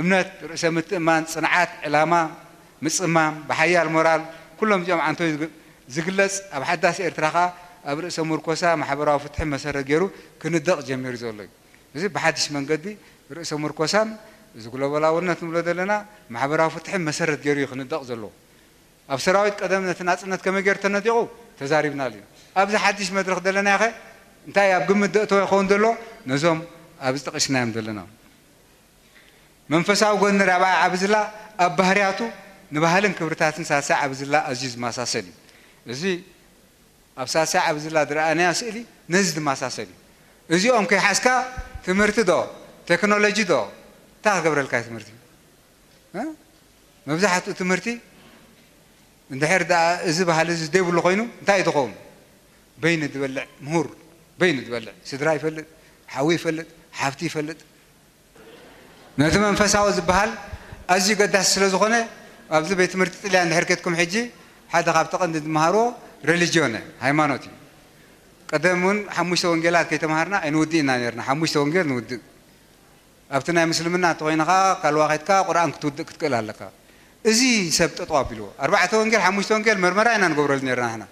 እምነት፣ ርእሰ ምትእማን፣ ጽንዓት፣ ዕላማ፣ ምጽማም፣ ብሓያል ሞራል፣ ኩሎም እዚኦም ዓንተው ዝግ-፣ ዝግለጽ፣ ኣብ ሓዳስ ኤርትራ ከኣ ኣብ ርእሰ ምርኮሳ ማሕበራዊ ፍትሒ መሰረት ገይሩ ክንደቕ ጀሚሩ ዘሎ እዩ። እዚ ብሓድሽ መንገዲ ርእሰ ምርኮሳን፣ እዚ ግሎባላውነት ንብሎ ዘለና፣ ማሕበራዊ ፍትሕን መሰረት ገይሩ እዩ ክንደቕ ዘለዎ። ኣብ ሰራዊት ቀደም ነቲ ናጽነት ከመይ ገይሩ ተነዲቑ ተዛሪብናሉ እዩ። ኣብዚ ሓድሽ መድረኽ ዘለናዮ ኸ እንታይ ኣብ ግምት ዘእተወ ይኸውን ዘሎ? ነዞም ኣብዚ ጠቒስናዮም ዘለና። መንፈሳዊ ጎኒ ራብዓይ ዓቢ ዝላ ኣብ ባህርያቱ ንባህልን ክብርታትን ሳልሳይ ዓቢ ዝላ ኣዝዩ ዝመሳሰል እዩ። እዚ ኣብ ሳልሳይ ዓቢ ዝላ ዝረኣናዮ ስእሊ ነዚ ዝመሳሰል እዩ። እዚኦም ከይሓዝካ ትምህርቲ ዶ፣ ቴክኖሎጂ ዶ፣ እንታይ ክገብረልካ እዩ ትምህርቲ? እ? መብዛሕትኡ ትምህርቲ እንድሕር ደኣ እዚ ባህሊ እዚ ዘይብሉ ኮይኑ እንታይ እዩ ዝኸውን? በይኑ ዝበልዕ ምሁር፣ በይኑ ዝበልዕ ስድራ ይፈልጥ፣ ሓዊ ይፈልጥ፣ ሓፍቲ ይፈልጥ። ነቲ መንፈሳዊ ዝበሃል ኣዝዩ ገዳሲ ስለ ዝኾነ፣ ኣብዚ ቤት ትምህርቲ ጥልያን እንድሕር ኬድኩም ሕጂ ሓደ ካብቲ ቀንዲ ዝመሃርዎ ሬሊጅዮን፣ ሃይማኖት እዩ። ቀደም እውን ሓሙሽተ ወንጌላት ከይተምሃርና ኣይንውድእ ኢና ነርና። ሓሙሽተ ወንጌል ንውድእ። ኣብቲ ናይ ምስልምና እንተኾይኑ ኸዓ ካልዋ ኸይድካ ቁርኣን ክትውድእ ክትክእል ኣለካ። እዚ ሰብ ጠጠው ኣቢልዎ። ኣርባዕተ ወንጌል፣ ሓሙሽተ ወንጌል መርመራ ኢና ንገብረሉ ነርና ንሕና።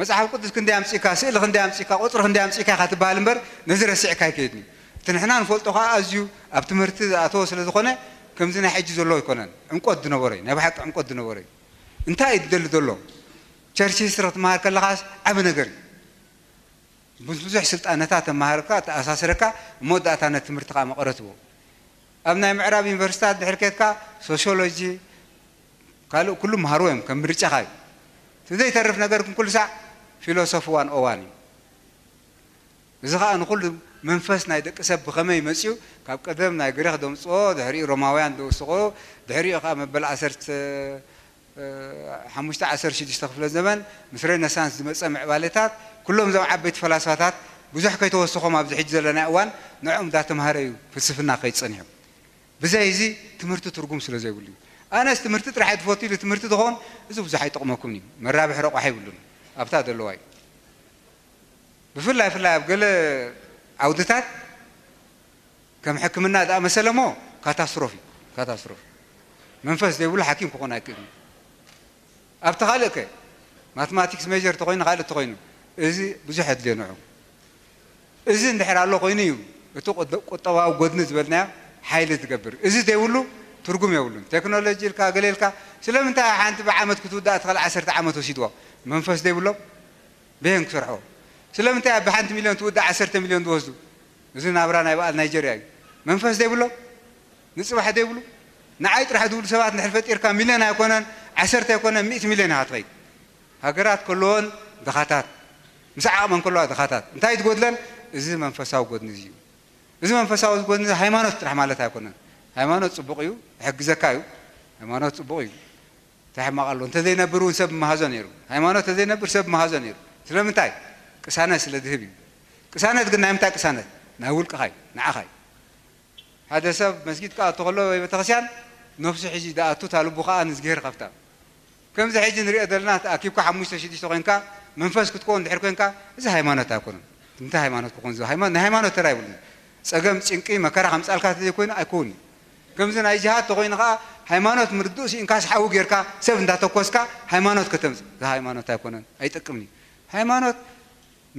መጽሓፍ ቅዱስ ክንደይ ኣምጺእካ፣ ስእሊ ክንደይ ኣምጺእካ፣ ቁጽሪ ክንደይ ኣምጺእካ ኢኻ ትበሃል እምበር፣ ነዚ ረሲዕካ ኣይከይድን እዩ። እቲ ንሕና ንፈልጦ ኸዓ ኣዝዩ ኣብ ትምህርቲ ዝኣተወ ስለ ዝኾነ፣ ከምዚ ናይ ሕጂ ዘሎ ኣይኮነን። ዕምቆት ዝነበሮ እዩ፣ ናይ ብሓቂ ዕምቆት ዝነበሮ እዩ። እንታይ እዩ ዝደሊ ዘሎ? ቸርች ሂስትሪ ክትመሃር ከለኻስ ዓቢ ነገር እዩ። ብዙሕ ስልጣነታት ተመሃርካ፣ ተኣሳስረካ፣ እሞ መወዳእታ ነቲ ትምህርቲ ኸዓ መቐረት ትቦ። ኣብ ናይ ምዕራብ ዩኒቨርሲታት ድሕር ኬድካ ሶሽዮሎጂ፣ ካልእ ኩሉ መሃርዎ እዮም፣ ከም ምርጫኻ እዩ። እቲ ዘይተርፍ ነገር ግን ኩሉ ሳዕ ፊሎሶፊ ዋን ኦ ዋን እዩ። እዚ ኸዓ ንኹሉ መንፈስ ናይ ደቂ ሰብ ብኸመይ መጺኡ፣ ካብ ቀደም ናይ ግሪኽ ደምጽኦ፣ ድሕሪኡ ሮማውያን ደውስቖ፣ ድሕሪኡ ኸዓ መበል ዓሰርተ ሓሙሽተ ዓሰርተ ሽዱሽተ ክፍለ ዘመን ምስ ሬነሳንስ ዝመጸ ምዕባለታት፣ ኩሎም እዞም ዓበይቲ ፈላስፋታት ብዙሕ ከይተወሰኾም ኣብዚ ሕጂ ዘለናዮ እዋን ንዕኦም እንዳተምሃረ እዩ ፍልስፍና ከይድ ጸኒሑ። ብዘይ እዚ ትምህርቲ ትርጉም ስለ ዘይብሉ እዩ። ኣነስ ትምህርቲ ጥራሕ እየ ዝፈቱ ኢሉ ትምህርቲ ዝኸውን እዚ ብዙሕ ኣይጠቕመኩምን እዩ። መራብሒ ረቋሒ የብሉን። ኣብታ ዘለዋ እዩ። ብፍላይ ፍላይ ኣብ ገለ ዓውድታት ከም ሕክምና ዝኣመሰለ እሞ ካታስትሮፊ፣ ካታስትሮፊ። መንፈስ ዘይብሉ ሓኪም ክኾን ኣይክእልን። ኣብቲ ካልእ ከ ማትማቲክስ ሜጀር ተኾይኑ ካልእ ተኾይኑ እዚ ብዙሕ የድልዮ ንዑ። እዚ እንድሕር ኣሎ ኮይኑ እዩ እቲ ቁጠ-፣ ቁጠባዊ ጎድኒ ዝበልናዮ ሓይሊ ዝገብር። እዚ ዘይብሉ ትርጉም የብሉን። ቴክኖሎጂ ኢልካ ገለ ኢልካ ስለምንታይ ሓንቲ ብዓመት ክትውዳእ ትኽእል ዓሰርተ ዓመት ወሲድዎ? መንፈስ ዘይብሎም በየን ክሰርሕዎ? ስለምንታይ ኣብ ሓንቲ ሚልዮን ትውዳእ ዓሰርተ ሚልዮን ዝወስዱ? እዚ ናብራ ናይ በዓል ናይጀርያ እዩ። መንፈስ ዘይብሎም ንጽባሕ ዘይብሉ ንዓይ ጥራሕ ዝብሉ ሰባት እንድሕር ፈጢርካ ሚልዮን ኣይኮነን ዓሰርተ ኣይኮነን ሚእቲ ሚልዮን ኢኻ ትኸይድ። ሃገራት ከለዎን ድኻታት ምስ ዓቕመን ከለዋ ድኻታት እንታይ ትጎድለን? እዚ መንፈሳዊ ጎድኒ እዚ እዩ። እዚ መንፈሳዊ ጎድኒ ሃይማኖት ጥራሕ ማለት ኣይኮነን። ሃይማኖት ጽቡቕ እዩ፣ ይሕግዘካ እዩ። ሃይማኖት ጽቡቕ እዩ። እንታይ ሕማቕ ኣሎ? እንተዘይነብር እውን ሰብ ምሃዞ ነይሩ። ሃይማኖት እንተዘይነብር ሰብ ምሃዞ ነይሩ። ስለምንታይ? ቅሳነት ስለ ዝህብ እዩ። ቅሳነት ግን ናይ ምንታይ ቅሳነት? ናይ ውልቅኻ እዩ፣ ንዓኻ እዩ። ሓደ ሰብ መስጊድ ክኣቱ ከሎ ወይ ቤተክርስትያን ነፍሱ ሒዙ ዝኣቱ እታ ልቡ ከኣ ንእዝግሄር ከፍታ። ከምዚ ሕጂ ንሪኦ ዘለና ተኣኪብካ ሓሙሽተ ሽዱሽተ ኮይንካ መንፈስ ክትከውን ድሕር ኮይንካ እዚ ሃይማኖት ኣይኮነን። እንታይ ሃይማኖት ክኾን እዚ ሃይማኖት ናይ ሃይማኖት ተራ ይብሉን። ጸገም ጭንቂ መከራ ከምጻልካ ተዘይኮይኑ ኣይኮውን እዩ። ከምዚ ናይ ጅሃድ ተኾይኑ ከኣ ሃይማኖት ምርድኡ ስኢንካስ ሓዊ ጌርካ ሰብ እንዳተኮስካ ሃይማኖት ከተምጽእ እዚ ሃይማኖት ኣይኮነን ኣይጠቅምን እዩ። ሃይማኖት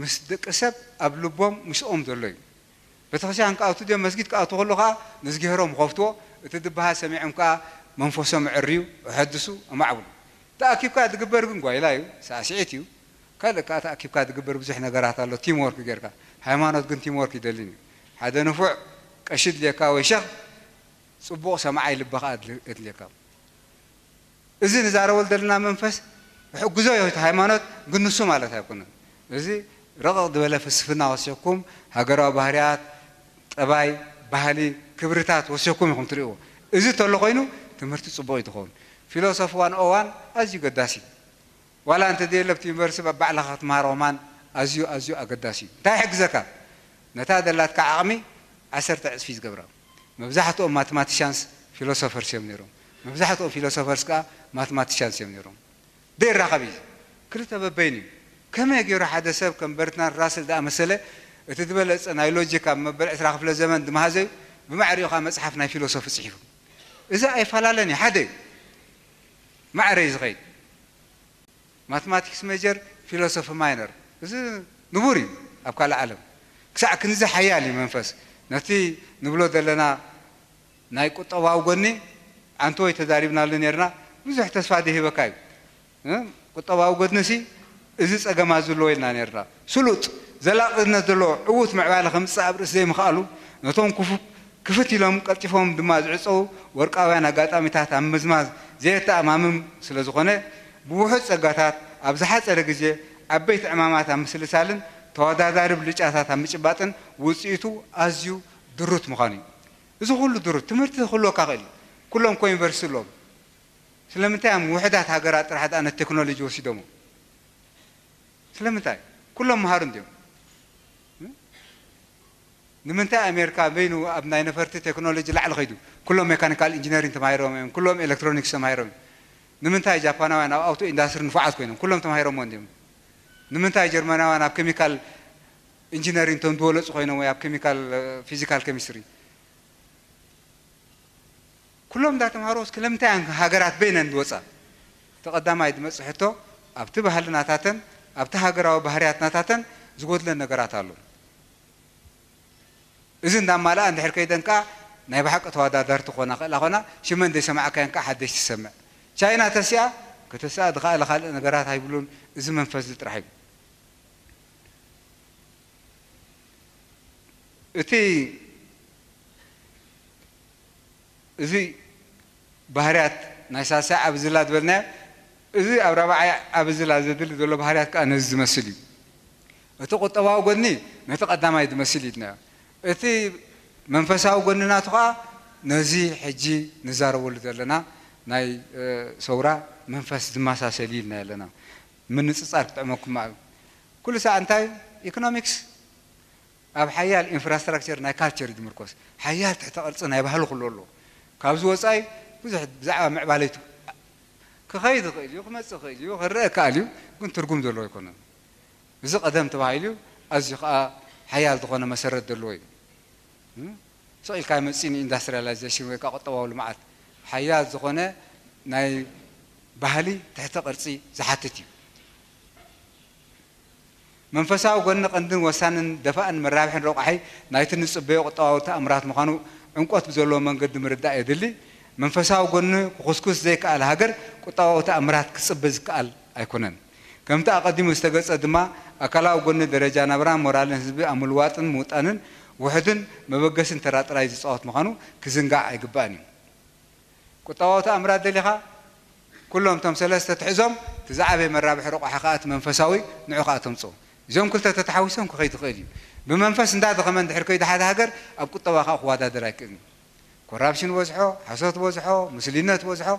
ምስ ደቂ ሰብ ኣብ ልቦም ምስኦም ዘሎ እዩ። ቤተክርስትያን ክኣቱ ድዮም መስጊድ ክኣቱ ከሎ ከዓ ንዝግሄሮም ይኸፍትዎ። እቲ ዝበሃል ሰሚዖም ከዓ መንፈሶም ዕርዩ፣ እሐድሱ፣ እማዕብሉ። ተኣኪብካ ዝግበር ግን ጓይላ እዩ፣ ሳዕስዒት እዩ። ካልእ ከዓ ተኣኪብካ ዝግበር ብዙሕ ነገራት ኣሎ። ቲም ወርክ ጌርካ። ሃይማኖት ግን ቲም ወርክ ይደልን እዩ። ሓደ ንፉዕ ቀሺ ድልየካ ወይ ሸኽ፣ ጽቡቕ ሰማዓይ ልቢ ከዓ የድልየካ። እዚ ንዛረበሉ ዘለና መንፈስ ይሕግዞ እዩ እቲ ሃይማኖት፣ ግን ንሱ ማለት ኣይኮነን። እዚ ረቕቕ ዝበለ ፍልስፍና ወሲኽኩም፣ ሃገራዊ ባህርያት፣ ጠባይ፣ ባህሊ፣ ክብርታት ወሲኽኩም ኢኹም ትርእይዎ። እዚ እንተሎ ኮይኑ ትምህርቲ ጽቡቕ እዩ ዝኸውን። ፊሎሶፊ ዋን ኦ ዋን ኣዝዩ ገዳሲ እዩ። ዋላ እንተ ዘየለ ኣብቲ ዩኒቨርሲቲ ባዕልኻ ክትመሃሮ ከማን ኣዝዩ ኣዝዩ ኣገዳሲ እዩ። እንታይ ይሕግዘካ? ነታ ደላትካ ዓቕሚ ዓሰርተ ዕጽፊ ዝገብራ። መብዛሕትኦም ማትማቲሻንስ ፊሎሶፈርስ እዮም ነይሮም። መብዛሕትኦም ፊሎሶፈርስ ከኣ ማትማቲሻንስ እዮም ነይሮም። ደይራኸብ እዩ። ክልተ በበይኑ እዩ። ከመይ ገይሩ ሓደ ሰብ ከም በርትራንድ ራስል ዝኣመሰለ እቲ ዝበለጸ ናይ ሎጂክ ኣብ መበል ዕስራ ክፍለ ዘመን ድመሃዘዩ ብማዕሪኡ ከኣ መጽሓፍ ናይ ፊሎሶፊ ጽሒፉ? እዚ ኣይፈላለን እዩ፣ ሓደ እዩ። ማዕረ እዩ ዝኸይድ። ማትማቲክስ ሜጀር፣ ፊሎሶፊ ማይነር። እዚ ንቡር እዩ ኣብ ካልእ ዓለም። ክሳዕ ክንዚ ሓያል እዩ መንፈስ። ነቲ ንብሎ ዘለና ናይ ቁጠባዊ ጎኒ ዓንተወይ ተዛሪብናሉ ነይርና። ብዙሕ ተስፋ ዝህበካ እዩ። እ? ቁጠባዊ ጎድንሲ እዚ ጸገማት ዘለዎ ኢልና ነይርና። ስሉጥ፣ ዘላቕነት ዘለዎ ዕዉት ምዕባለ ከምጽእ ኣብ ርእሲ ዘይምኽኣሉ፣ ነቶም ክፉ-፣ ክፍት ኢሎም ቀልጢፎም ድማ ዝዕጸዉ ወርቃውያን ኣጋጣሚታት ኣብ ምምዝማዝ ዘየተኣማምም ስለ ዝኾነ፣ ብውሑድ ጸጋታት ኣብ ዝሓጸረ ግዜ ዓበይቲ ዕማማት ኣብ ምስልሳልን ተወዳዳሪ ብልጫታት ኣብ ምጭባጥን ውጽኢቱ ኣዝዩ ድሩት ምዃኑ እዩ። እዚ ኩሉ ድሩት ትምህርቲ ክህልወካ ክእል እዩ። ኩሎም እኮ ዩኒቨርሲቲ ኣለዎም። ስለምንታይ እዮም ውሑዳት ሃገራት ጥራሕ ደኣ ነቲ ቴክኖሎጂ ወሲዶሞ? ስለምንታይ? ኩሎም መሃሩ እንድዮም። ንምንታይ ኣሜሪካ በይኑ ኣብ ናይ ነፈርቲ ቴክኖሎጂ ላዕሊ ከይዱ? ኩሎም ሜካኒካል ኢንጂነሪንግ ተማሂሮም እዮም፣ ኩሎም ኤሌክትሮኒክስ ተማሂሮም እዮም። ንምንታይ ጃፓናውያን ኣብ ኣውቶ ኢንዳስትሪ ንፉዓት ኮይኖም? ኩሎም ተማሂሮሞ እንድዮም። ንምንታይ ጀርመናውያን ኣብ ኬሚካል ኢንጂነሪንግ እቶም ዝበለጹ ኮይኖም ወይ ኣብ ኬሚካል፣ እ፣ ፊዚካል ኬሚስትሪ? ኩሎም እንዳተምሃሮ እስከ ለምንታይ እየን ሃገራት በይነን ዝወፃ? እቲ ቀዳማይ ዝመፅእ ሕቶ ኣብቲ ባህልናታተን ኣብቲ ሃገራዊ ባህርያትናታተን ዝጎድለን ነገራት ኣሎ። እዚ እንዳማልኣ እንድሕር ከይደን ከዓ ናይ ብሓቂ ተወዳዳርቲ ክኾና ክእላ ኾና ሽመን ዘይሰማዕካየን ከዓ ሓደሽ ትሰምዕ። ቻይና ተሲኣ ከተስኣ ዝኸኣለ ካልእ ነገራት ኣይብሉን። እዚ መንፈስ እዚ ጥራሕ እዩ። እቲ እዚ ባህርያት ናይ ሳልሳይ ዓቢ ዝላ ዝበልናዮ፣ እዚ ኣብ ራብዓይ ዓቢ ዝላ ዘድሊ ዘሎ ባህርያት ከኣ ነዚ ዝመስል እዩ። እቲ ቁጠባዊ ጎድኒ ነቲ ቀዳማይ ዝመስል እዩ ኢልናዮ። እቲ መንፈሳዊ ጎድኒ ናቱ ከኣ ነዚ ሕጂ ንዛረበሉ ዘለና ናይ፣ እ፣ ሰውራ መንፈስ ዝመሳሰል እዩ ኢልና ኣለና። ምንጽጻር ክጥዕመኩም እዩ። ኩሉ ሳዕ እንታይ ኢኮኖሚክስ ኣብ ሓያል ኢንፍራስትራክቸር ናይ ካልቸር እዩ ዝምርኮስ። ሓያል ትሕተ ቅርጺ ናይ ባህሊ ኩሉ ኣሎ። ካብዚ ወጻኢ ብዙሕ ብዛዕባ ምዕባለይቱ ክኸይድ ይኽእል እዩ፣ ክመጽእ ይኽእል እዩ፣ ክረአ ይከኣል እዩ፣ ግን ትርጉም ዘለዎ ኣይኮነን። እዚ ቀደም ተባሂሉ ኣዝዩ ከኣ ሓያል ዝኾነ መሰረት ዘለዎ እዩ። እም? ስቕ ኢልካ ኣይመጽእን እዩ። ኢንዳስትሪያላይዜሽን ወይ ከኣ ቁጠባዊ ልምዓት ሓያል ዝኾነ ናይ ባህሊ ትሕተ ቅርጺ ዝሓትት እዩ። መንፈሳዊ ጎኒ ቀንድን ወሳንን ደፋእን መራብሕን ረቋሒ ናይቲ ንጽበዮ ቁጠባዊ ተኣምራት ምዃኑ ዕምቆት ብዘለዎ መንገዲ ምርዳእ የድሊ። መንፈሳዊ ጎኒ ክኹስኩስ ዘይከኣለ ሃገር ቁጠባዊ ተኣምራት ክጽበ ዝከኣል ኣይኮነን። ከምቲ ኣቐዲሙ ዝተገልጸ ድማ ኣካላዊ ጎኒ ደረጃ ናብራን ሞራልን ህዝቢ ኣብ ምልዋጥን ምውጣንን ውሑድን መበገስን ተራ ጥራይ ዝጻወት ምዃኑ ክዝንጋዕ ኣይግባእን እዩ። ቁጠባዊ ተኣምራት ደሊኻ? ኩሎም እቶም ሰለስተ ትሕዞም፣ እቲ ዝዓበየ መራብሒ ረቋሒ ከኣ እቲ መንፈሳዊ፣ ንዑ ከኣ ተምጽኦ። እዚኦም ክልተ ተተሓዊሶም ክኸይድ ይኽእል እዩ። ብመንፈስ እንዳደኸመ እንድሕር ከይዱ ሓደ ሃገር፣ ኣብ ቁጠባ ከኣ ክወዳደር ኣይክእልን እዩ። ኮራፕሽን በዝሖ፣ ሓሶት በዝሖ፣ ምስልዩነት በዝሖ፣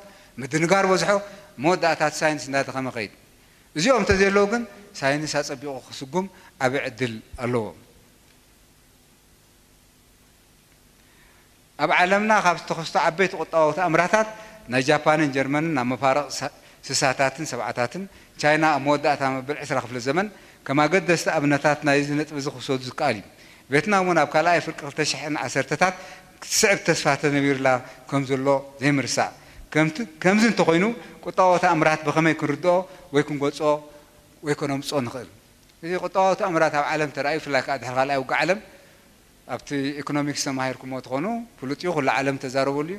ምድንጋር በዝሖ፣ መወዳእታ እቲ ሳይንስ እንዳደኸመ ከይድ። እዚኦም እንተዘየለዉ ግን፣ ሳይንስ ኣጸቢቑ ክስጉም ዓቢ ዕድል ኣለዎ። ኣብ ዓለምና ካብ ዝተኸስቱ ዓበይቲ ቁጠባዊ ተኣምራታት ናይ ጃፓንን ጀርመንን ኣብ መፋርቕ ሳ-፣ ስሳታትን ሰብዓታትን፣ ቻይና ኣብ መወዳእታ መበል ዕስራ ክፍለ ዘመን ከም ኣገደስቲ ኣብነታት ናይዚ ነጥቢ እዚ ክውሰዱ ዝከኣል እዩ። ቬትናም እውን ኣብ ካልኣይ ፍርቂ ክልተ ሽሕን ዓሰርተታት ክትስዕብ ተስፋ ተነቢሩላ ከም ዘሎ ዘይምርሳዕ። ከምቲ-፣ ከምዚ እንተኾይኑ ቁጠባዊ ተኣምራት ብኸመይ ክንርድኦ ወይ ክንገልጾ ወይ ከነምጽኦ ንኽእል? እዚ ቁጠባዊ ተኣምራት ኣብ ዓለም ተራእዩ፣ ብፍላይ ከኣ ድሕሪ ካልኣይ ውግእ ዓለም፣ ኣብቲ ኢኮኖሚክስ ተማሂርኩሞ ትኾኑ፣ ፍሉጥ እዩ፣ ኩሉ ዓለም ተዛረበሉ እዩ።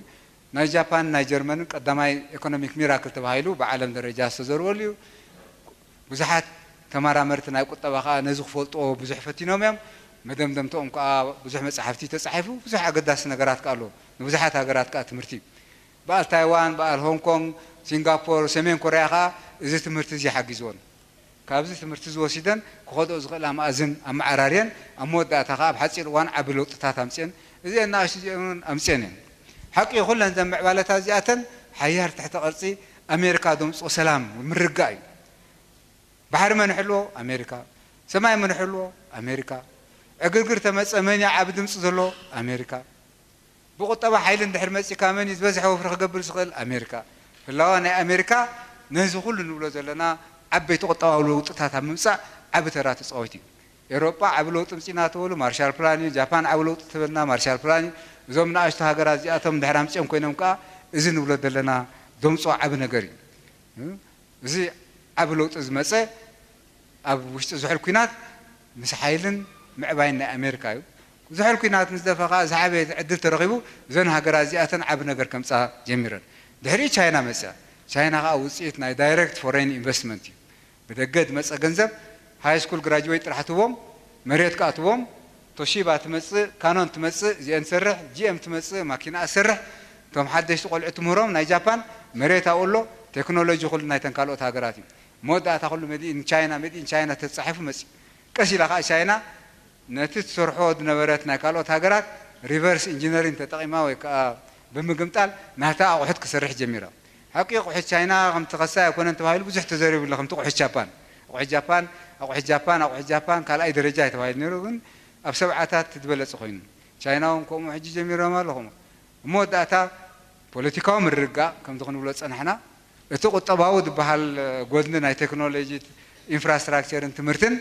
ናይ ጃፓን፣ ናይ ጀርመንን ቀዳማይ ኢኮኖሚክ ሚራክል ተባሂሉ ብዓለም ደረጃ ዝተዘርበሉ እዩ። ብዙሓት ተመራመርቲ ናይ ቁጠባ ከኣ ነዚ ክፈልጥዎ ብዙሕ ፈቲኖም እዮም። መደምደምትኦም ከኣ ብዙሕ መጻሕፍቲ ተጻሒፉ፣ ብዙሕ ኣገዳሲ ነገራት ከኣ ኣሎ። ንብዙሓት ሃገራት ከኣ ትምህርቲ። በዓል ታይዋን፣ በዓል ሆንግ ኮንግ፣ ሲንጋፖር፣ ሰሜን ኮርያ ከኣ እዚ ትምህርቲ እዚ ሓጊዝዎን። ካብዚ ትምህርቲ እዚ ወሲደን ክኸድኦ ዝኽእላ መኣዝን ኣመዓራርየን፣ ኣብ መወዳእታ ከኣ ኣብ ሓጺር እዋን ዓቢ ለውጥታት ኣምጽኤን። እዚአን ንኣሽቱ እዚአን እውን ኣምጽኤን እየን። ሓቂ እዩ፣ ኩለን እዘን ምዕባለታት እዚኣተን ሓያል ትሕተ ቅርጺ ኣሜሪካ ዘምጽኦ ሰላም፣ ምርግጋእ እዩ። ባሕሪ መን ይሕልዎ? ኣሜሪካ። ሰማይ መን ይሕልዎ? ኣሜሪካ። ዕግርግር ተመፀ መን እዩ ዓቢ ድምፂ ዘለዎ? ኣሜሪካ። ብቁጠባ ሓይሊ እንድሕር መፂካ መን እዩ ዝበዝሐ ወፍሪ ክገብር ዝኽእል? ኣሜሪካ። ህላወ ናይ ኣሜሪካ ነዚ ኩሉ ንብሎ ዘለና ዓበይቲ ቁጠባዊ ለውጥታት ኣብ ምምፃእ ዓቢ ተራ ተፃዊት እዩ። ኤውሮጳ ዓቢ ለውጢ ምፂና ተበሉ ማርሻል ፕላን እዩ። ጃፓን ዓቢ ለውጢ ተበልና ማርሻል ፕላን እዩ። እዞም ንኣሽቱ ሃገራት እዚኣቶም ድሕር ኣምፂኦም ኮይኖም ከዓ እዚ ንብሎ ዘለና ዘምፅኦ ዓቢ ነገር እዩ። እዚ ዓቢ ለውጢ ዝመፀ ኣብ ውሽጢ ዝሑል ኲናት ምስ ሓይልን ምዕባይን ናይ ኣሜሪካ እዩ። ዝሑል ኲናት ምስ ደፈ ከዓ ዝዓበየ ዕድል ተረኺቡ እዘን ሃገራት እዚኣተን ዓቢ ነገር ከምፃ ጀሚረን። ድሕሪኡ ቻይና መፅያ። ቻይና ከዓ ውፅኢት ናይ ዳይሬክት ፎሬን ኢንቨስትመንት እዩ። ብደገ ዝመፀ ገንዘብ ሃይ ስኩል ግራጅዌት ጥራሕ ትቦም መሬት ከዓ ትቦም ቶሺባ ትመፅእ ካኖን ትመፅእ እዚአን ትሰርሕ ጂኤም ትመፅእ ማኪና ትሰርሕ እቶም ሓደሽቲ ቆልዑ ትምህሮም ናይ ጃፓን መሬት ኣብኡ ኣሎ ቴክኖሎጂ ኩሉ ናይተን ካልኦት ሃገራት እዩ። መወዳእታ ኩሉ መዲኢን ቻይና መዲኢን ቻይና ተፃሒፉ መፅዩ። ቀስ ኢላ ከዓ ቻይና ነቲ ትሰርሖ ዝነበረት ናይ ካልኦት ሃገራት ሪቨርስ ኢንጂነሪን ተጠቒማ ወይ ከዓ ብምግምጣል ናታ ኣቑሑት ክሰርሕ ጀሚራ። ሓቂ ኣቑሑት ቻይና ከምቲ ከሳይ ኣይኮነን ተባሂሉ ብዙሕ ተዘሪቡ ኣሎ ከምቲ ኣቑሑት ጃፓን ኣቑሑት ጃፓን ኣቑሑት ጃፓን ኣቑሑት ጃፓን ካልኣይ ደረጃ እዩ ተባሂሉ ነይሩ ግን ኣብ ሰብዓታት ዝበለፀ ኮይኑ ቻይና እውን ከምኡ ሕጂ ጀሚሮም ኣሎ ከምኡ እሞ ወዳእታ ፖለቲካዊ ምርግጋእ ከምዚ ክንብሎ ዝፀናሕና እቲ ቁጠባዊ ዝበሃል ጎድኒ ናይ ቴክኖሎጂ ኢንፍራስትራክቸርን ትምህርትን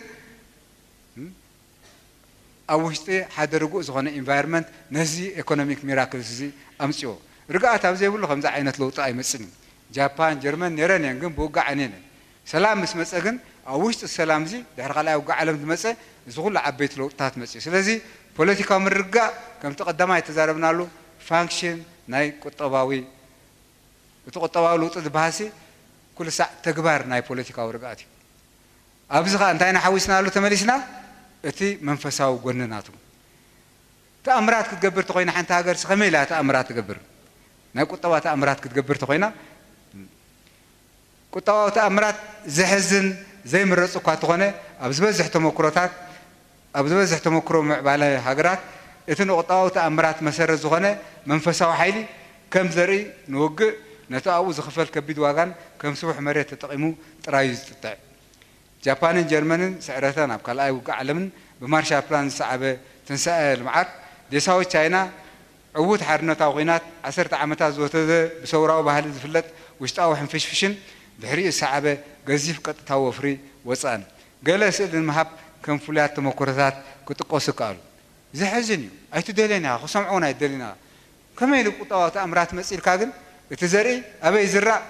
ኣብ ውሽጢ ሓደ ርጉእ ዝኾነ ኢንቫይሮንመንት ነዚ ኢኮኖሚክ ሚራክልስ እዚ ኣምፅዎ ርግኣት ኣብ ዘይብሉ ከምዚ ዓይነት ለውጢ ኣይመፅን እዩ ጃፓን ጀርመን ነይረን እየን ግን ብውግእ ዓንየን እየን ሰላም ምስ መፀ ግን ኣብ ውሽጢ ሰላም እዚ ድሕሪ ካልኣይ ውግእ ዓለም ዝመፀ እዚ ኩሉ ዓበይቲ ለውጥታት መፅኡ ስለዚ ፖለቲካዊ ምርግጋእ ከምቲ ቀዳማይ ተዛረብናሉ ፋንክሽን ናይ ቁጠባዊ እቲ ቁጠባዊ ለውጢ ዝበሃልሲ ኩሉ ሳዕ ተግባር ናይ ፖለቲካዊ ርግኣት እዩ ኣብዚ ከዓ እንታይ ኢና ሓዊስናሉ ተመሊስና እቲ መንፈሳዊ ጎኒ ናቱ ተኣምራት ክትገብር ተኮይና ሓንቲ ሃገር ከመይ ኢላ ተኣምራት ትገብር ናይ ቁጠባ ተኣምራት ክትገብር ተኮይና ቁጠባዊ ተኣምራት ዘሕዝን ዘይምረፁ እኳ እንተኾነ ኣብ ዝበዝሕ ተመክሮታት ኣብ ዝበዝሕ ተመክሮ ምዕባለ ሃገራት እቲ ንቁጠባዊ ተኣምራት መሰረት ዝኾነ መንፈሳዊ ሓይሊ ከም ዘርኢ ንውግእ ነቲ ኣብኡ ዝኽፈል ከቢድ ዋጋን ከም ስቡሕ መሬት ተጠቒሙ ጥራይ እዩ ዝጥጥዕ። ጃፓንን ጀርመንን ስዕረተን ኣብ ካልኣይ ውግእ ዓለምን ብማርሻል ፕላን ዝሰዓበ ትንሳኤ ልምዓት ዴሳዊት ቻይና ዕዉት ሓርነታዊ ኲናት ዓሰርተ ዓመታት ዝወሰደ ብሰውራዊ ባህሊ ዝፍለጥ ውሽጣዊ ሕንፍሽፍሽን ድሕሪኡ ዝሰዓበ ገዚፍ ቀጥታዊ ወፍሪ ወፃእን ገለ ስእሊ ንምሃብ ከም ፍሉያት ተመክሮታት ክጥቀሱ ይከኣሉ። ዘሕዝን እዩ። ኣይትደልዮን ኢኻ፣ ክሰምዖ እውን ኣይትደልን ኢኻ። ከመይ ኢሉ ቁጠባዊ ተኣምራት መፂእ ኢልካ ግን እቲ ዘርኢ ኣበይ ይዝራእ?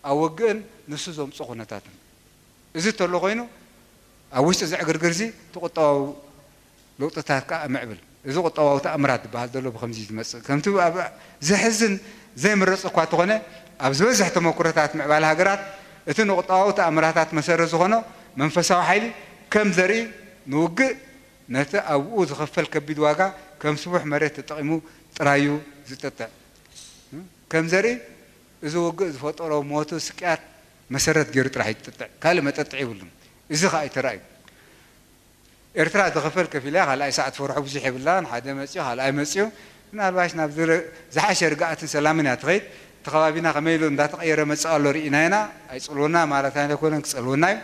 ኣብ ውግእን ንሱ ዘምፅኦ ኩነታትን። እዚ እንተሎ ኮይኑ ኣብ ውሽጢ እዚ ዕግርግር እዚ እቲ ቁጠባዊ ለውጥታት ከዓ ምዕብል። እዚ ቁጠባዊ ተኣምራት ዝበሃል ዘሎ ብኸምዚ እዩ ዝመፅእ። ከምቲ ኣብ ዘሕዝን ዘይምረፅ እኳ እንተኾነ ኣብ ዝበዝሕ ተመኩሮታት ምዕባለ ሃገራት እቲ ንቁጠባዊ ተኣምራታት መሰረት ዝኾኖ መንፈሳዊ ሓይሊ ከም ዘርኢ ንውግእ ነቲ ኣብኡ ዝኸፈል ከቢድ ዋጋ ከም ስቡሕ መሬት ተጠቒሙ ጥራይ እዩ ዝጥጥዕ። ከም ዘርኢ እዚ ውግእ ዝፈጠሮ ሞቱ ስቅያት መሰረት ገይሩ ጥራሕ እዩ ዝጥጥዕ ካልእ መጠጥዒ ይብሉን እዚ ከዓ ኣይተራእዩ ኤርትራ ዝኸፈል ከፊላ ካልኣይ ሰዓት ፈርሖ ብዙሕ የብላን ሓደ መፅዩ ካልኣይ መፅዩ ምናልባሽ ናብ ዝሓሸ ርግኣትን ሰላምን እያ ትኸይድ እቲ ከባቢና ከመይ ኢሉ እንዳተቐየረ መፅእ ኣሎ ርኢና ኢና ኣይፅልወና ማለት ኣይኮነን ክፀልወና እዩ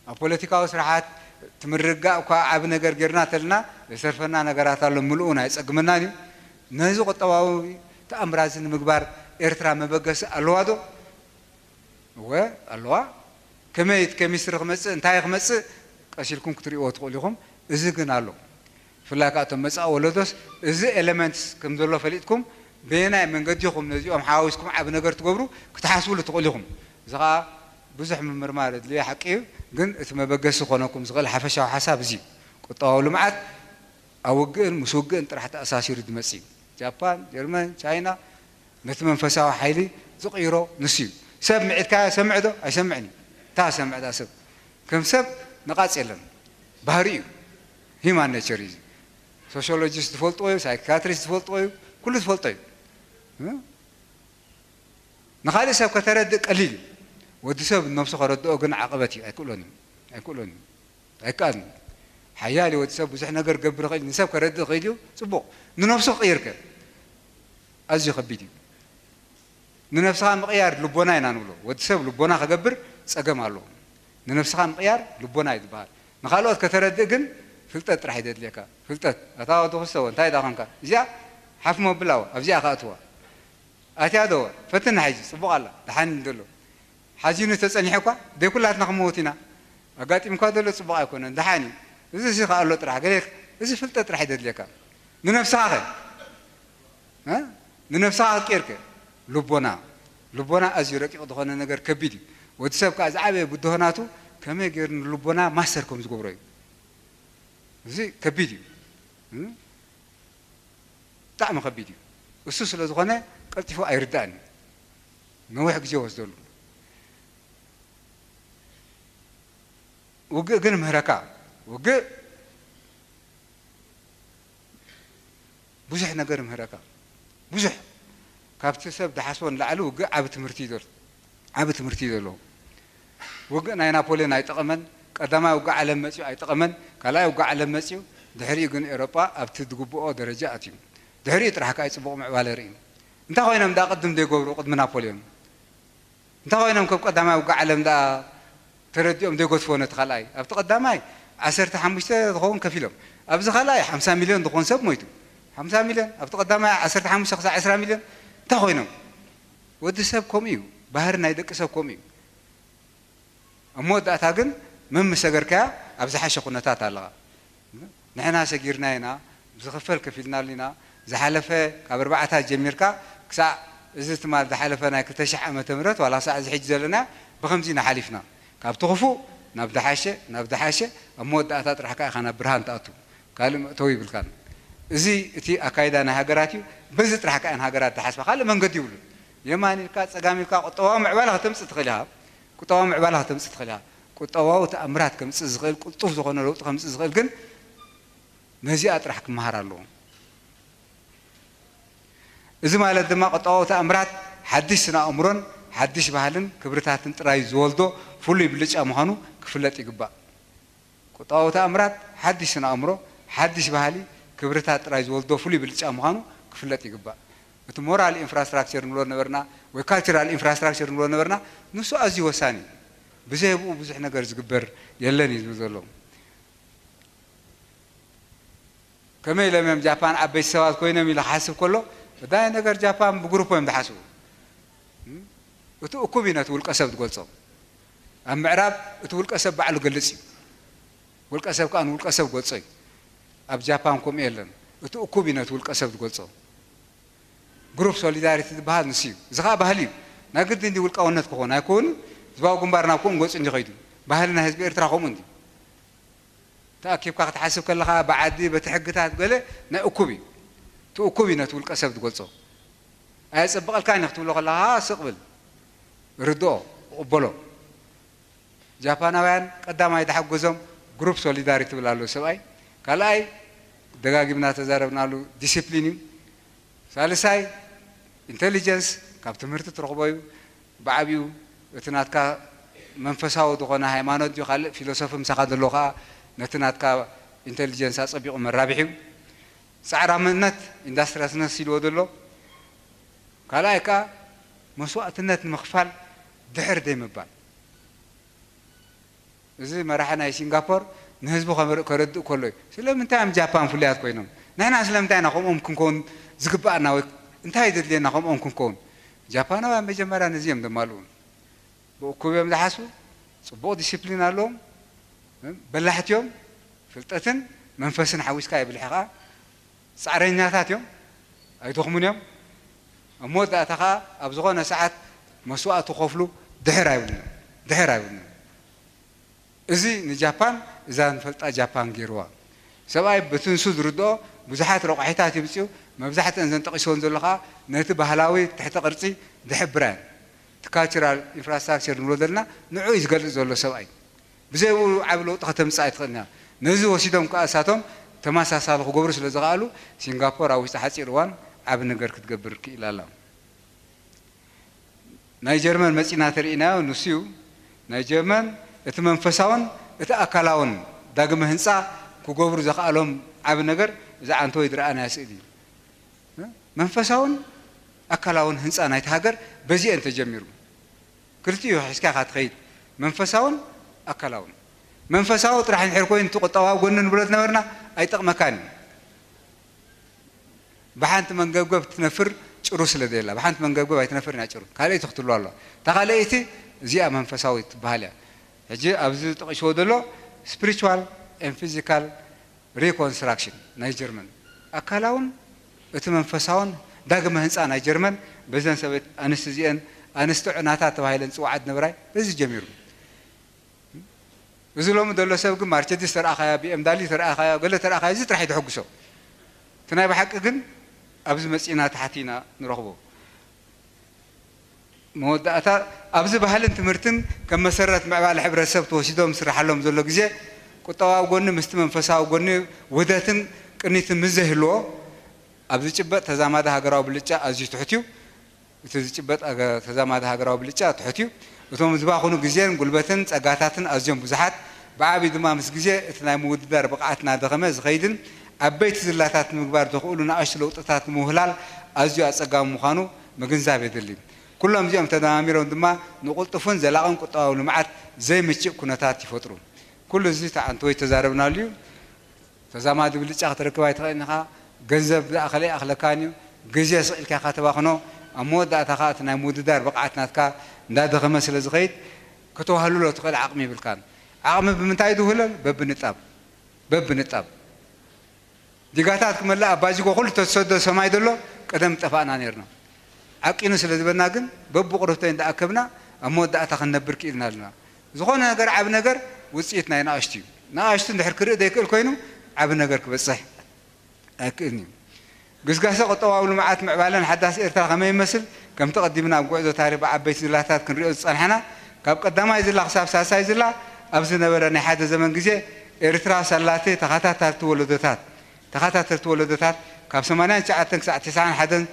ኣብ ፖለቲካዊ ስርሓት ትምርጋእ እኳ ዓብ ነገር ጌርና ተልና ዘሰርፈና ነገራት ኣሎ ምልኡ ናይ ጸግመናን እዩ ነዚ ቁጠባዊ ተኣምራዚ ንምግባር ኤርትራ መበገሲ ኣለዋ ዶ እወ ኣለዋ ከመይ እቲ ኬሚስትሪ ክመጽእ እንታይ ክመጽእ ቀሲልኩም ክትርእዎ ትኽእሉ ኢኹም እዚ ግን ኣሎ ብፍላይ ከዓ እቶም መፃኢ ወለዶስ እዚ ኤለመንትስ ከም ዘሎ ፈሊጥኩም በየናይ መንገዲ ኢኹም ነዚኦም ሓዋዊስኩም ዓቢ ነገር ትገብሩ ክትሓስብሉ ትኽእሉ ኢኹም። እዚ ከዓ ብዙሕ ምምርማር የድልዮ ሓቂ እዩ፣ ግን እቲ መበገሲ ክኾነኩም ዝኽእል ሓፈሻዊ ሓሳብ እዚ እዩ። ቁጠባዊ ልምዓት ኣብ ውግእን ምስ ውግእን ጥራሕ ተኣሳሲሩ ዝመፅእ እዩ። ጃፓን፣ ጀርመን፣ ቻይና ነቲ መንፈሳዊ ሓይሊ ዝቕይሮ ንሱ እዩ። ሰብ ምዒድካዮ ሰምዕ ዶ? ኣይሰምዕን እዩ። እንታይ ሰምዕ ዳ ሰብ? ከም ሰብ ነቓጽ የለን። ባህሪ እዩ። ሂማን ኔቸር እዩ። ሶሽዮሎጂስት ዝፈልጥዎ እዩ፣ ሳይካትሪስት ዝፈልጥዎ እዩ፣ ኩሉ ዝፈልጦ እዩ። ንኻልእ ሰብ ከተረድእ ቀሊል እዩ። ወዲ ሰብ ነብሱ ከረድኦ ግን ዓቐበት እዩ፣ ኣይክእሎን እዩ። ኣይክእሎን እዩ። ኣይከኣልን እዩ። ሓያል እዩ ወዲ ሰብ፣ ብዙሕ ነገር ክገብር ይኽእል እዩ፣ ንሰብ ከረድእ ይኽእል እዩ፣ ጽቡቕ። ንነብሱ ክቕይር ከ? ኣዝዩ ከቢድ እዩ። ንነብስኻ ምቕያር ልቦና ኢና ንብሎ። ወዲ ሰብ ልቦና ክገብር ጸገም ኣለዎ። ንነብስኻ ምቕያር ልቦና እዩ ዝበሃል። ንኻልኦት ከተረድእ ግን ፍልጠት ጥራሕ እዩ ዘድልየካ። ፍልጠት። ኣታ ወዲ ክሰዎ እንታይ ደኣ ኾንካ? እዚኣ ሓፍ መብላዎ ኣብዚኣ ከኣትዋ። ኣትያ ዶ? ፈትና ሕጂ ጽቡቕ ኣላ። ደሓን እዩ ዘሎ። ሓዚኑ ተጸኒሑ እኳ ደይ ኩላትና ክመውት ኢና። ኣጋጢምካ ዘሎ ጽቡቕ ኣይኮነን። ደሓን እዩ። እዚ ሲ ከኣሎ ጥራሕ ገለ እዚ ፍልጠት ጥራሕ እዩ ዘድልየካ። ንነብስኻ ኸ? እ? ንነብስኻ ክትቀይር ከ? ልቦና። ልቦና ኣዝዩ ረቂቕ ዝኾነ ነገር ከቢድ እዩ። ወዲ ሰብ ከኣ ዝዓበየ ብድሆናቱ ከመይ ገይሩ ንልቦና ማስተር ከም ዝገብሮ እዩ። እዚ ከቢድ እዩ። እ? ብጣዕሚ ከቢድ እዩ። እሱ ስለ ዝኾነ ቀልጢፉ ኣይርዳእን እዩ። ነዊሕ ግዜ ይወስደሉ። ውግእ ግን ምህረካ። ውግእ ብዙሕ ነገር ምህረካ። ብዙሕ ካብቲ ሰብ ዝሓስቦ ንላዕሊ ውግእ ዓቢ ትምህርቲ እዩ ዘሎ። ዓቢ ትምህርቲ እዩ ዘለዎ። ውግእ ናይ ናፖልዮን ኣይጠቐመን። ቀዳማይ ውግእ ዓለም መጺኡ ኣይጠቐመን። ካልኣይ ውግእ ዓለም መጺኡ፣ ድሕሪኡ ግን ኤውሮጳ ኣብቲ ዝግብኦ ደረጃ ኣትዩ። ድሕሪኡ ጥራሕ ከኣ እዩ ጽቡቕ ምዕባለ ርእዩ። እንታይ ኮይኖም ደኣ ቅድም ዘይገብሩ ቅድሚ ናፖልዮን? እንታይ ኮይኖም ከብ ቀዳማይ ውግእ ዓለም ደኣ ተረዲኦም ዘይገድፍዎ ነቲ ካልኣይ? ኣብቲ ቀዳማይ ዓሰርተ ሓሙሽተ ዝኸውን ከፊሎም፣ ኣብዚ ካልኣይ ሓምሳ ሚልዮን ዝኸውን ሰብ ሞይቱ። ሓምሳ ሚልዮን ኣብቲ ቀዳማይ ዓሰርተ ሓሙሽተ ክሳዕ ዕስራ ሚልዮን እንታይ ኮይኖም? ወዲ ሰብ ከምኡ እዩ። ባህሪ ናይ ደቂ ሰብ ከምኡ እዩ። ኣብ መወዳእታ ግን መምስ ሰገርካያ ኣብ ዝሓሸ ኩነታት ኣለኻ። ንሕና ሰጊርና ኢና፣ ብዝኽፈል ከፊልናሉ ኢና። ዝሓለፈ ካብ ኣርባዓታት ጀሚርካ ክሳዕ እዚ ትማል ዝሓለፈ ናይ ክልተ ሽሕ ዓመተ ምህረት ዋላ ክሳዕ እዚ ሕጂ ዘለና ብኸምዚ ኢና ሓሊፍና። ካብቲ ክፉእ ናብ ዝሓሸ፣ ናብ ዝሓሸ፣ ኣብ መወዳእታ ጥራሕ ከኣ ኢኻ ናብ ብርሃን ትኣቱ። ካልእ መእተዊ ይብልካን። እዚ እቲ ኣካይዳ ናይ ሃገራት እዩ። በዚ ጥራሕ ከኣ እየን ሃገራት ዝሓስባ። ካልእ መንገዲ ይብሉን። የማን ኢልካ፣ ጸጋም ኢልካ ቁጠባዊ ምዕባለ ከተምጽእ ትኽእል ኢኻ። ቁጠባዊ ምዕባለ ከተምጽእ ትኽእል ኢኻ። ቁጠባዊ ተኣምራት ከምጽእ ዝኽእል፣ ቅልጡፍ ዝኾነ ለውጢ ከምጽእ ዝኽእል ግን ነዚኣ ጥራሕ ክመሃር ኣለዎ። እዚ ማለት ድማ ቁጠባዊ ተኣምራት ሓድሽ ስነ ኣእምሮን ሓድሽ ባህልን ክብርታትን ጥራይ ዝወልዶ ፍሉይ ብልጫ ምዃኑ ክፍለጥ ይግባእ። ቁጠባዊ ተኣምራት ሓድሽ ስነ ኣእምሮ፣ ሓድሽ ባህሊ፣ ክብርታት ጥራይ ዝወልዶ ፍሉይ ብልጫ ምዃኑ ክፍለጥ ይግባእ። እቲ ሞራል ኢንፍራስትራክቸር ንብሎ ነበርና ወይ ካልቸራል ኢንፍራስትራክቸር ንብሎ ነበርና፣ ንሱ ኣዝዩ ወሳኒ እዩ። ብዘይ ብኡ ብዙሕ ነገር ዝግበር የለን እዩ ዝብል ዘሎ። ከመይ ኢሎም እዮም ጃፓን ዓበይቲ ሰባት ኮይኖም ኢለ ክሓስብ ከሎ፣ ቀዳማይ ነገር ጃፓን ብግሩፕ እዮም ዝሓስቡ። እም? እቲ እኩብ እዩ ነቲ ውልቀ ሰብ ዝገልጾ። ኣብ ምዕራብ እቲ ውልቀ ሰብ ባዕሉ ገልጽ እዩ። ውልቀ ሰብ ከኣ ንውልቀ ሰብ ገልጾ እዩ። ኣብ ጃፓን ከምኡ የለን። እቲ እኩብ እዩ ነቲ ውልቀ ሰብ ዝገልጾ። ግሩፕ ሶሊዳሪቲ ዝበሃል ንሱ እዩ። እዚ ኸኣ ባህሊ እዩ። ናይ ግድን ድዩ ውልቃውነት ክኸውን? ኣይኮኑን። ህዝባዊ ግንባር ናብ ከምኡ ገጹ እንዲ ኸይዱ። ባህሊ ናይ ህዝቢ ኤርትራ ከምኡ እንዲ። ተኣኪብካ ክትሓስብ ከለኻ ብዓዲ፣ በቲ ሕግታት ገለ ናይ እኩብ እዩ። እቲ እኩብ እዩ ነቲ ውልቀ ሰብ ዝገልጾ። ኣየጸብቐልካን እዩ ክትብሎ ከለኻ ስቕ ብል። ርድኦ፣ ቅበሎ። ጃፓናውያን ቀዳማይ ዝሓገዞም ግሩፕ ሶሊዳሪቲ ትብል ኣሎ ሰብኣይ። ካልኣይ ደጋጊምና ተዛረብናሉ ዲሲፕሊን እዩ። ሳልሳይ ኢንቴሊጀንስ ካብ ትምህርቲ ትረኽቦ እዩ። ብዓቢኡ እቲ ናትካ መንፈሳዊ ዝኾነ ሃይማኖት ድዩ ካልእ ፊሎሶፊ ምሳኻ ዘሎ ከኣ ነቲ ናትካ ኢንቴሊጀንስ ኣጸቢቑ መራብሒ እዩ። ጻዕራምነት ኢንዳስትሪያስነስ ኢልዎ ዘሎ። ካልኣይ ከኣ መስዋእትነት ንምኽፋል ድሕር ዘይምባል። እዚ መራሒ ናይ ሲንጋፖር ንህዝቡ ከመር-፣ ከረድእ ከሎ እዩ። ስለምንታይ እዮም ጃፓን ፍሉያት ኮይኖም? ንሕና ስለምንታይ ኢና ከምኦም ክንከውን ዝግብኣና ወይ እንታይ እዩ ዘድልየና ከምኦም ክንከውን? ጃፓናውያን መጀመርያ ነዚ እዮም ዘማልኡ። ብእኩብ እዮም ዝሓስቡ፣ ጽቡቕ ዲሲፕሊን ኣለዎም፣ በላሕቲ እዮም፣ ፍልጠትን መንፈስን ሓዊስካ የብልሕ ከኣ ጻዕረኛታት እዮም፣ ኣይደኽሙን እዮም። ኣብ መወዳእታ ከኣ ኣብ ዝኾነ ሰዓት መስዋእቲ ክኸፍሉ ድሕር ኣይብሉን እዮም፣ ድሕር ኣይብሉን እዮም። እዚ ንጃፓን፣ እዛ ንፈልጣ ጃፓን ገይርዋ። ሰብኣይ በቲ ንሱ ዝርድኦ ብዙሓት ረቋሒታት የምጽኡ፣ መብዛሕትአን ዘን ጠቒስወን ዘሎ ከኣ ነቲ ባህላዊ ትሕተ ቅርጺ ዝሕብራ እየን። እቲ ካልቸራል ኢንፍራስትራክቸር ንብሎ ዘለና ንዑ እዩ ዝገልጽ ዘሎ ሰብኣይ። ብዘይ ብኡ ዓቢ ለውጢ ከተምጽእ ኣይትኽእልን እያ። ነዚ ወሲዶም ከኣ እሳቶም ተመሳሳሊ ክገብሩ ስለ ዝኸኣሉ፣ ሲንጋፖር ኣብ ውሽጢ ሓጺር እዋን ዓቢ ነገር ክትገብር ክኢላ ኣላ። ናይ ጀርመን መጺና ተርእናዮ ንሱ እዩ። ናይ ጀርመን እቲ መንፈሳውን እቲ ኣካላውን ዳግመ ህንጻ ክገብሩ ዘኽኣሎም ዓቢ ነገር እዛ ዓንተወይ ዝረኣናያ ስእሊ እዩ። መንፈሳውን ኣካላውን ህንጻ ናይቲ ሃገር በዚአን ተጀሚሩ። ክልቲኡ ሒዝካ ኢኻ ትኸይድ። መንፈሳውን ኣካላውን መንፈሳዊ ጥራሕ እንድሕር ኮይኑ እቲ ቁጠባዊ ጎኒ ንብሎ ዝነበርና ኣይጠቕመካን እዩ። ብሓንቲ መንገብገብ ትነፍር ጭሩ ስለ ዘየላ፣ ብሓንቲ መንገብገብ ኣይትነፍርን እያ ጭሩ። ካልኣይቲ ክትህሉ ኣለዋ። እታ ካልኣይቲ እዚኣ መንፈሳዊት ትበሃል እያ። ሕጂ ኣብዚ ጠቒስዎ ዘሎ spiritual and physical reconstruction ናይ ጀርመን፣ ኣካላውን እቲ መንፈሳውን ዳግመ ህንፃ ናይ ጀርመን በዘን ሰበይቲ ኣንስቲ እዚአን፣ ኣንስቲ ዕናታት ተባሂለን ዝፅዋዓ ዝነበራ እዩ። በዚ ጀሚሩ። እዚ ሎሚ ዘሎ ሰብ ግን ማርቸዲስ ተረኣኻያ፣ ቢ ኤም ዳብሊው ተረኣኻያ፣ ገለ ተረኣኻያ፣ እዚ ጥራሕ እዩ ዘሐጉሶ። እቲ ናይ ብሓቂ ግን ኣብዚ መፂእና ተሓቲና ንረኽቦ። መወዳእታ፣ ኣብዚ ባህልን ትምህርትን ከም መሰረት ምዕባለ ሕብረተሰብ ተወሲዶም ዝስርሓሎም ዘሎ ግዜ፣ ቁጠባዊ ጎኒ ምስቲ መንፈሳዊ ጎኒ ውህደትን ቅኒትን ምስ ዘይህልዎ፣ ኣብ ዝጭበጥ ተዛማዲ ሃገራዊ ብልጫ ኣዝዩ ትሑት እዩ። እቲ ዝጭበጥ ኣገ-፣ ተዛማዲ ሃገራዊ ብልጫ ትሑት እዩ። እቶም ዝባኽኑ ግዜን ጉልበትን ጸጋታትን ኣዝዮም ብዙሓት፣ ብዓቢ ድማ ምስ ግዜ እቲ ናይ ምውድዳር ብቕዓት እናደኸመ ዝኸይድን ዓበይቲ ዝላታት ንምግባር ዘኽእሉ ንኣሽቱ ለውጥታት ንምውህላል ኣዝዩ ኣጸጋሚ ምዃኑ ምግንዛብ የድሊ። ኩሎም እዚኦም ተደማሚሮም ድማ ንቕልጡፍን ዘላቕን ቁጠባዊ ልምዓት ዘይምችእ ኩነታት ይፈጥሩ። ኩሉ እዚ ተዓንተወይ ተዛረብናሉ እዩ። ተዛማዲ ብልጫ ክትረክብ ኣይትኽእልን ኢኻ። ገንዘብ ዝኣኸለ ኣይኣኽለካን እዩ። ግዜ ስቕ ኢልካ ኢኻ ተባኽኖ። ኣብ መወዳእታ ኸኣ እቲ ናይ ምውድዳር ብቕዓት ናትካ እንዳደኸመ ስለ ዝኸይድ፣ ከተዋህልሎ ትኽእል ዓቕሚ ይብልካን። ዓቕሚ ብምንታይ ዝውህለል? በብንጣብ። በብንጣብ። ዲጋታት ክመልእ ኣብ ባጅጎ ኩሉ ተዝሰዶ ሰማይ ዘሎ ቀደም ጠፋእና ነይርና። ዓቂኑ ስለ ዝበና ግን በብቑርብተይ እንዳኣከብና ኣብ መወዳእታ ክንነብር ክኢልና ኣለና። ዝኾነ ነገር፣ ዓቢ ነገር ውጽኢት ናይ ንኣሽቱ እዩ። ንኣሽቱ እንድሕር ክርኢ ዘይክእል ኮይኑ ዓቢ ነገር ክበጽሕ ኣይክእልን እዩ። ግስጋሰ ቁጠባዊ ልምዓት ምዕባለን ሓዳስ ኤርትራ ከመይ ይመስል? ከምቲ ቀዲምና ኣብ ጉዕዞ ታሪኽ ብዓበይቲ ዝላታት ክንሪኦ ዝጸንሓና፣ ካብ ቀዳማይ ዝላ ክሳብ ሳልሳይ ዝላ ኣብ ዝነበረ ናይ ሓደ ዘመን ግዜ ኤርትራ ሳላቲ ተኸታታልቲ ወለዶታት፣ ተኸታተልቲ ወለዶታት ካብ ሰማንያን ትሽዓተን ክሳዕ ተስዓን ሓደን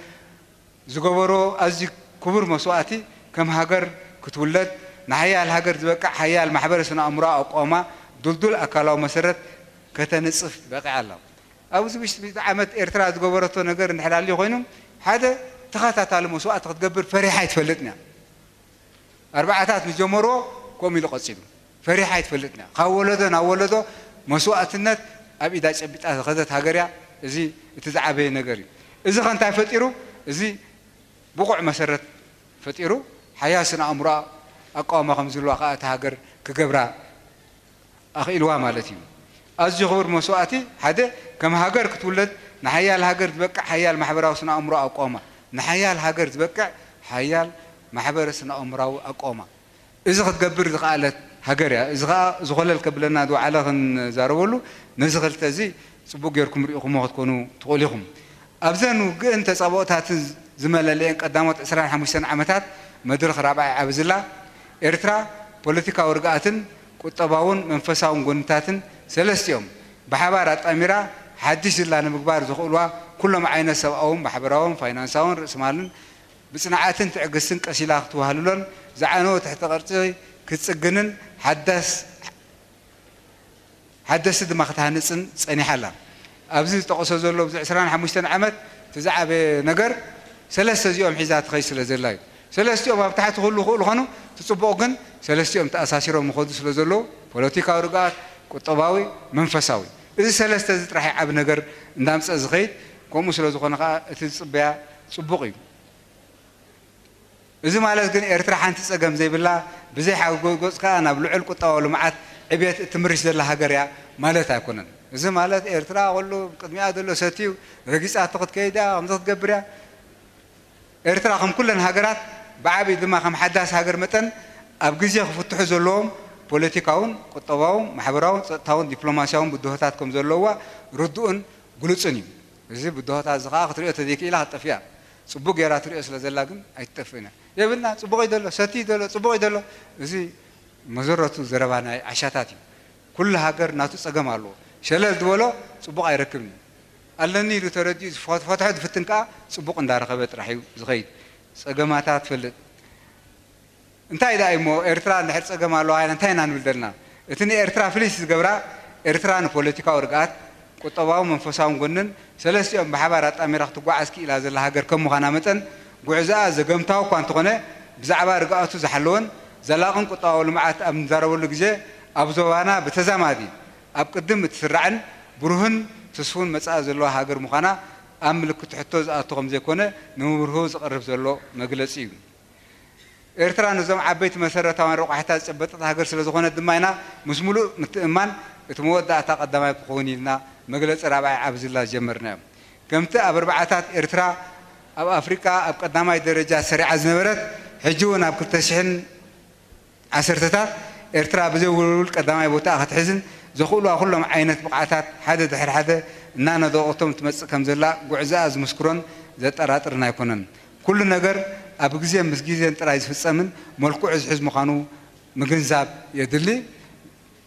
ዝገበሮ ኣዝዩ ክቡር መስዋእቲ፣ ከም ሃገር ክትውለድ፣ ንሓያል ሃገር ዝበቅዕ ሓያል ማሕበረ ስነ ኣእምሮኣዊ ኣቋውማ፣ ድልዱል ኣካላዊ መሰረት ከተንጽፍ በቒዓ ኣላ። ኣብዚ ውሽጢ ሚእቲ ዓመት ኤርትራ ዝገበረቶ ነገር እንድሕር ኣልዩ ኮይኑ፣ ሓደ ተኸታታሊ መስዋእቲ ክትገብር ፈሪሓ ኣይትፈልጥን እያ። ኣርባዓታት ዝጀመርዎ ከምኡ ኢሉ ቀጺሉ። ፈሪሓ ኣይትፈልጥን እያ። ካብ ወለዶ ናብ ወለዶ መስዋእትነት ኣብ ኢዳ ጨቢጣ ዝኸደት ሃገር እያ። እዚ እቲ ዝዓበየ ነገር እዩ። እዚ ከ እንታይ ፈጢሩ? እዚ ብቑዕ መሰረት ፈጢሩ፣ ሓያል ስነ ኣእምሮኣ ኣቃውማ ከም ዝህልዋ ከኣ እታ ሃገር ክገብራ ኣኽኢልዋ ማለት እዩ። ኣዝዩ ክቡር መስዋእቲ፣ ሓደ ከም ሃገር ክትውለድ፣ ንሓያል ሃገር ዝበቅዕ ሓያል ማሕበራዊ ስነ ኣእምሮ ኣቃውማ፣ ንሓያል ሃገር ዝበቅዕ ሓያል ማሕበረ ስነ ኣእምራዊ ኣቃውማ። እዚ ክትገብር ዝኸኣለት ሃገር እያ። እዚ ኸኣ ዝኾለል ከብለና ዝወዓለ ክንዛረበሉ፣ ነዚ ክልተ እዚ ጽቡቕ ጌርኩም ርኢኹሞ ክትኮኑ ትኽእሉ ኢኹም። ኣብዘን ውግእን ተጻብኦታትን ዝመለለየን ቀዳሞት ዕስራን ሓሙሽተን ዓመታት መድረኽ ራብዓይ ዓቢ ዝላ ኤርትራ፣ ፖለቲካዊ ርግኣትን ቁጠባውን መንፈሳውን ጎንታትን ሰለስቲኦም ብሓባር ኣጣሚራ ሓድሽ ዝላ ንምግባር ዘኽእልዋ ኩሎም ዓይነት ሰብኣውን ማሕበራውን ፋይናንሳውን ርእሲ ማልን ብጽንዓትን ትዕግስትን ቀሲላ ክትወሃልሎን ዝዓነወ ትሕተ ቅርጺ ክትጽግንን ሓዳስ ሓደስቲ ድማ ክትሃንጽን ጸኒሓ ኣላ። ኣብዚ ዝጠቐሶ ዘሎ ኣብዚ ዕስራን ሓሙሽተን ዓመት እቲ ዝዓበየ ነገር ሰለስተ እዚኦም ሒዛ ትኸይድ ስለ ዘላ እዩ። ሰለስቲኦም ኣብ ታሕቲ ክህሉ ይኽእሉ ኾኑ፣ እቲ ጽቡቕ ግን ሰለስቲኦም ተኣሳሲሮም ይኸዱ ስለ ዘለዉ፣ ፖለቲካዊ ርግኣት፣ ቁጠባዊ፣ መንፈሳዊ። እዚ ሰለስተ እዚ ጥራሕ እዩ ዓቢ ነገር እንዳምጸ ዝኸይድ። ከምኡ ስለ ዝኾነ ኸኣ እቲ ዝጽበያ ጽቡቕ እዩ። እዚ ማለት ግን ኤርትራ ሓንቲ ጸገም ዘይብላ፣ ብዘይ ሓጎስ ከኣ ናብ ልዑል ቁጠባዊ ልምዓት ዕብየት እትምርሽ ዘላ ሃገር እያ ማለት ኣይኮነን። እዚ ማለት ኤርትራ ኩሉ ቅድሚኣ ዘሎ ሰትዩ ረጊጻቶ ክትከይድ እያ፣ ከምዚ ክትገብር እያ። ኤርትራ ከም ኩለን ሃገራት ብዓቢኡ ድማ ከም ሓዳስ ሃገር መጠን ኣብ ግዜ ክፍትሑ ዘለዎም ፖለቲካውን ቁጠባውን ማሕበራውን ጸጥታውን ዲፕሎማስያውን ብድሆታት ከም ዘለውዋ ርዱእን ግሉጽን እዩ። እዚ ብድሆታት እዚ ከኣ ክትሪኦ ተዘይክኢላ ክትጠፍእ እያ። ጽቡቕ ጌራ ትሪኦ ስለ ዘላ ግን ኣይትጠፍእን እያ። የብልና፣ ጽቡቕ እዩ ዘሎ፣ ሰቲ እዩ ዘሎ፣ ጽቡቕ እዩ ዘሎ። እዚ መዘረቱ ዘረባ ናይ ዓሻታት እዩ። ኩሉ ሃገር ናቱ ጸገም ኣለዎ። ሸለል ዝበሎ ጽቡቕ ኣይረክብን እዩ። ኣለኒ ኢሉ ተረዲኡ ዝፈ-፣ ፈትሖ ዝፍትን ከኣ ጽቡቕ እንዳረኸበ ጥራሕ እዩ ዝኸይድ። ጸገማታ ትፈልጥ። እንታይ ደኣ እሞ ኤርትራ እንድሕር ጸገም ኣለዋ ኢልና እንታይ ኢና ንብል ዘለና? እቲ ንኤርትራ ፍልይቲ ዝገብራ፣ ኤርትራ ንፖለቲካዊ ርግኣት፣ ቁጠባውን መንፈሳውን ጎንን ሰለስቲኦም ብሓባር ኣጣሚራ ክትጓዓዝ ክኢላ ዘላ ሃገር ከም ምዃና መጠን፣ ጉዕዞኣ ዘገምታዊ እኳ እንተኾነ፣ ብዛዕባ ርግኣቱ ዝሓለወን ዘላቕን ቁጠባዊ ልምዓት ኣብ ንዛረበሉ ግዜ፣ ኣብ ዞባና ብተዛማዲ ኣብ ቅድም እትስራዕን ብሩህን ትስፉን መጻኢ ዘለዋ ሃገር ምዃና ኣብ ምልክት ሕቶ ዝኣቱ ከም ዘይኮነ ንምብርሁ ዝቐርብ ዘሎ መግለጺ እዩ። ኤርትራ ነዞም ዓበይቲ መሰረታውያን ረቋሒታት ዝጨበጠት ሃገር ስለ ዝኾነት ድማ ኢና ምስ ሙሉእ ምትእምማን እቲ መወዳእታ ቀዳማይ ክኸውን ኢልና መግለጺ ራብዓይ ዓቢ ዝላ ዝጀመርናዮ። ከምቲ ኣብ ኣርባዓታት ኤርትራ ኣብ ኣፍሪቃ ኣብ ቀዳማይ ደረጃ ሰሪዓ ዝነበረት፣ ሕጂ እውን ኣብ ክልተ ሽሕን ዓሰርተታት ኤርትራ ብዘይ ውልውል ቀዳማይ ቦታኣ ክትሕዝን ዘኽእሉዋ ኩሎም ዓይነት ብቕዓታት ሓደ ድሕሪ ሓደ እናነደቐቶም ትመጽእ ከም ዘላ ጉዕዞኣ ዝምስክሮን ዘጠራጥርን ኣይኮነን። ኩሉ ነገር ኣብ ግዜን ምስ ግዜን ጥራይ ዝፍጸምን መልክዑ ዝሕዝ ምዃኑ ምግንዛብ የድሊ።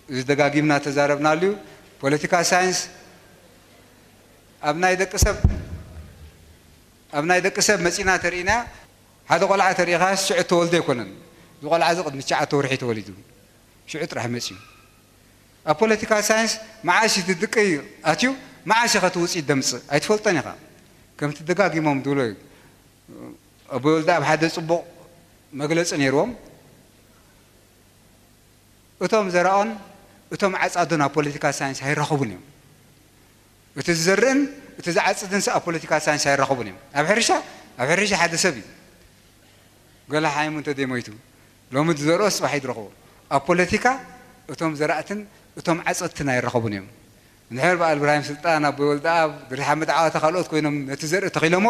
እዚ ደጋጊምና ተዛረብናሉ እዩ። ፖለቲካ ሳይንስ ኣብ ናይ ደቂ ሰብ ኣብ ናይ ደቂ ሰብ መጺና ተርእና፣ ሓደ ቆልዓ ተሪኢኻ ሽዑ ተወልደ ኣይኮነን። እዚ ቆልዓ እዚ ቅድሚ ትሽዓተ ወርሒ ተወሊዱ፣ ሽዑ ጥራሕ መጺኡ። ኣብ ፖለቲካ ሳይንስ መዓሽ እቲ ድቂ ኣትዩ፣ መዓሽ ኢኻ ትውጽኢት ደምጽእ ኣይትፈልጦን ኢኻ። ከምቲ ደጋጊሞም ዝብሎ እዩ። ኣቦይ ወልደ ኣብ ሓደ ጽቡቕ መግለጺ ነይርዎም። እቶም ዘራኦን እቶም ዓጻዶን ኣብ ፖለቲካ ሳይንስ ኣይራኸቡን እዮም። እቲ ዝዘርእን እቲ ዝዓጽድን ሰብ ኣብ ፖለቲካ ሳይንስ ኣይራኸቡን እዮም። ኣብ ሕርሻ፣ ኣብ ሕርሻ ሓደ ሰብ እዩ። ገለ ሓይሙ እንተ ደይሞይቱ፣ ሎሚ ዝዘርኦ ጽባሕ ይድረኽቦ። ኣብ ፖለቲካ እቶም ዘራእትን እቶም ዓጸድትን ኣይራኸቡን እዮም። እንድሕር በዓል እብራሂም ስልጣን፣ ኣቦይ ወልደኣብ፣ ድሪ ሓመድ ዓዋተ ካልኦት ኮይኖም ነቲ ዘርኢ ተኺሎሞ፣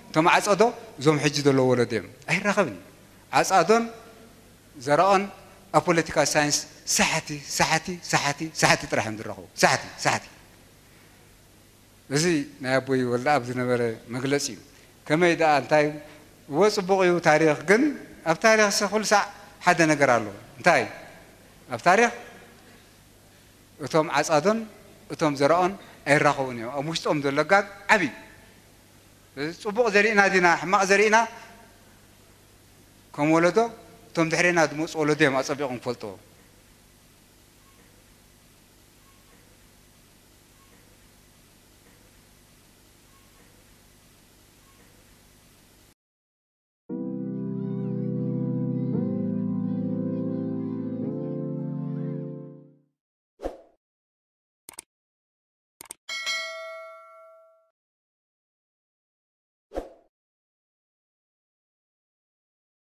እቶም ዓጸዶ እዞም ሕጂ ዘለዉ ወለዶ እዮም። ኣይራኸብን እዩ። ዓጻዶን ዘራኦን ኣብ ፖለቲካ ሳይንስ ሳሕቲ፣ ሳሕቲ፣ ሳሕቲ፣ ሳሕቲ ጥራሕ እዮም ዝራኸቡ። ሳሕቲ፣ ሳሕቲ። እዚ ናይ ኣቦይ ወልደኣብ ዝነበረ መግለጺ እዩ። ከመይ ደኣ እንታይ እዎ ጽቡቕ እዩ ታሪኽ፣ ግን ኣብ ታሪኽ ሰ ኩሉ ሳዕ ሓደ ነገር ኣሎ። እንታይ? ኣብ ታሪኽ እቶም ዓጻዶን እቶም ዘራኦን ኣይራኸቡን እዮም። ኣብ ውሽጦም ዘሎ ጋግ ዓቢ እዩ። እዚ ጽቡቕ ዘሪእና ዲና ሕማቕ ዘሪእና ከም ወለዶ እቶም ድሕሬና ዝመጹ ወለዶ እዮም ኣጸቢቖም ክፈልጥዎ።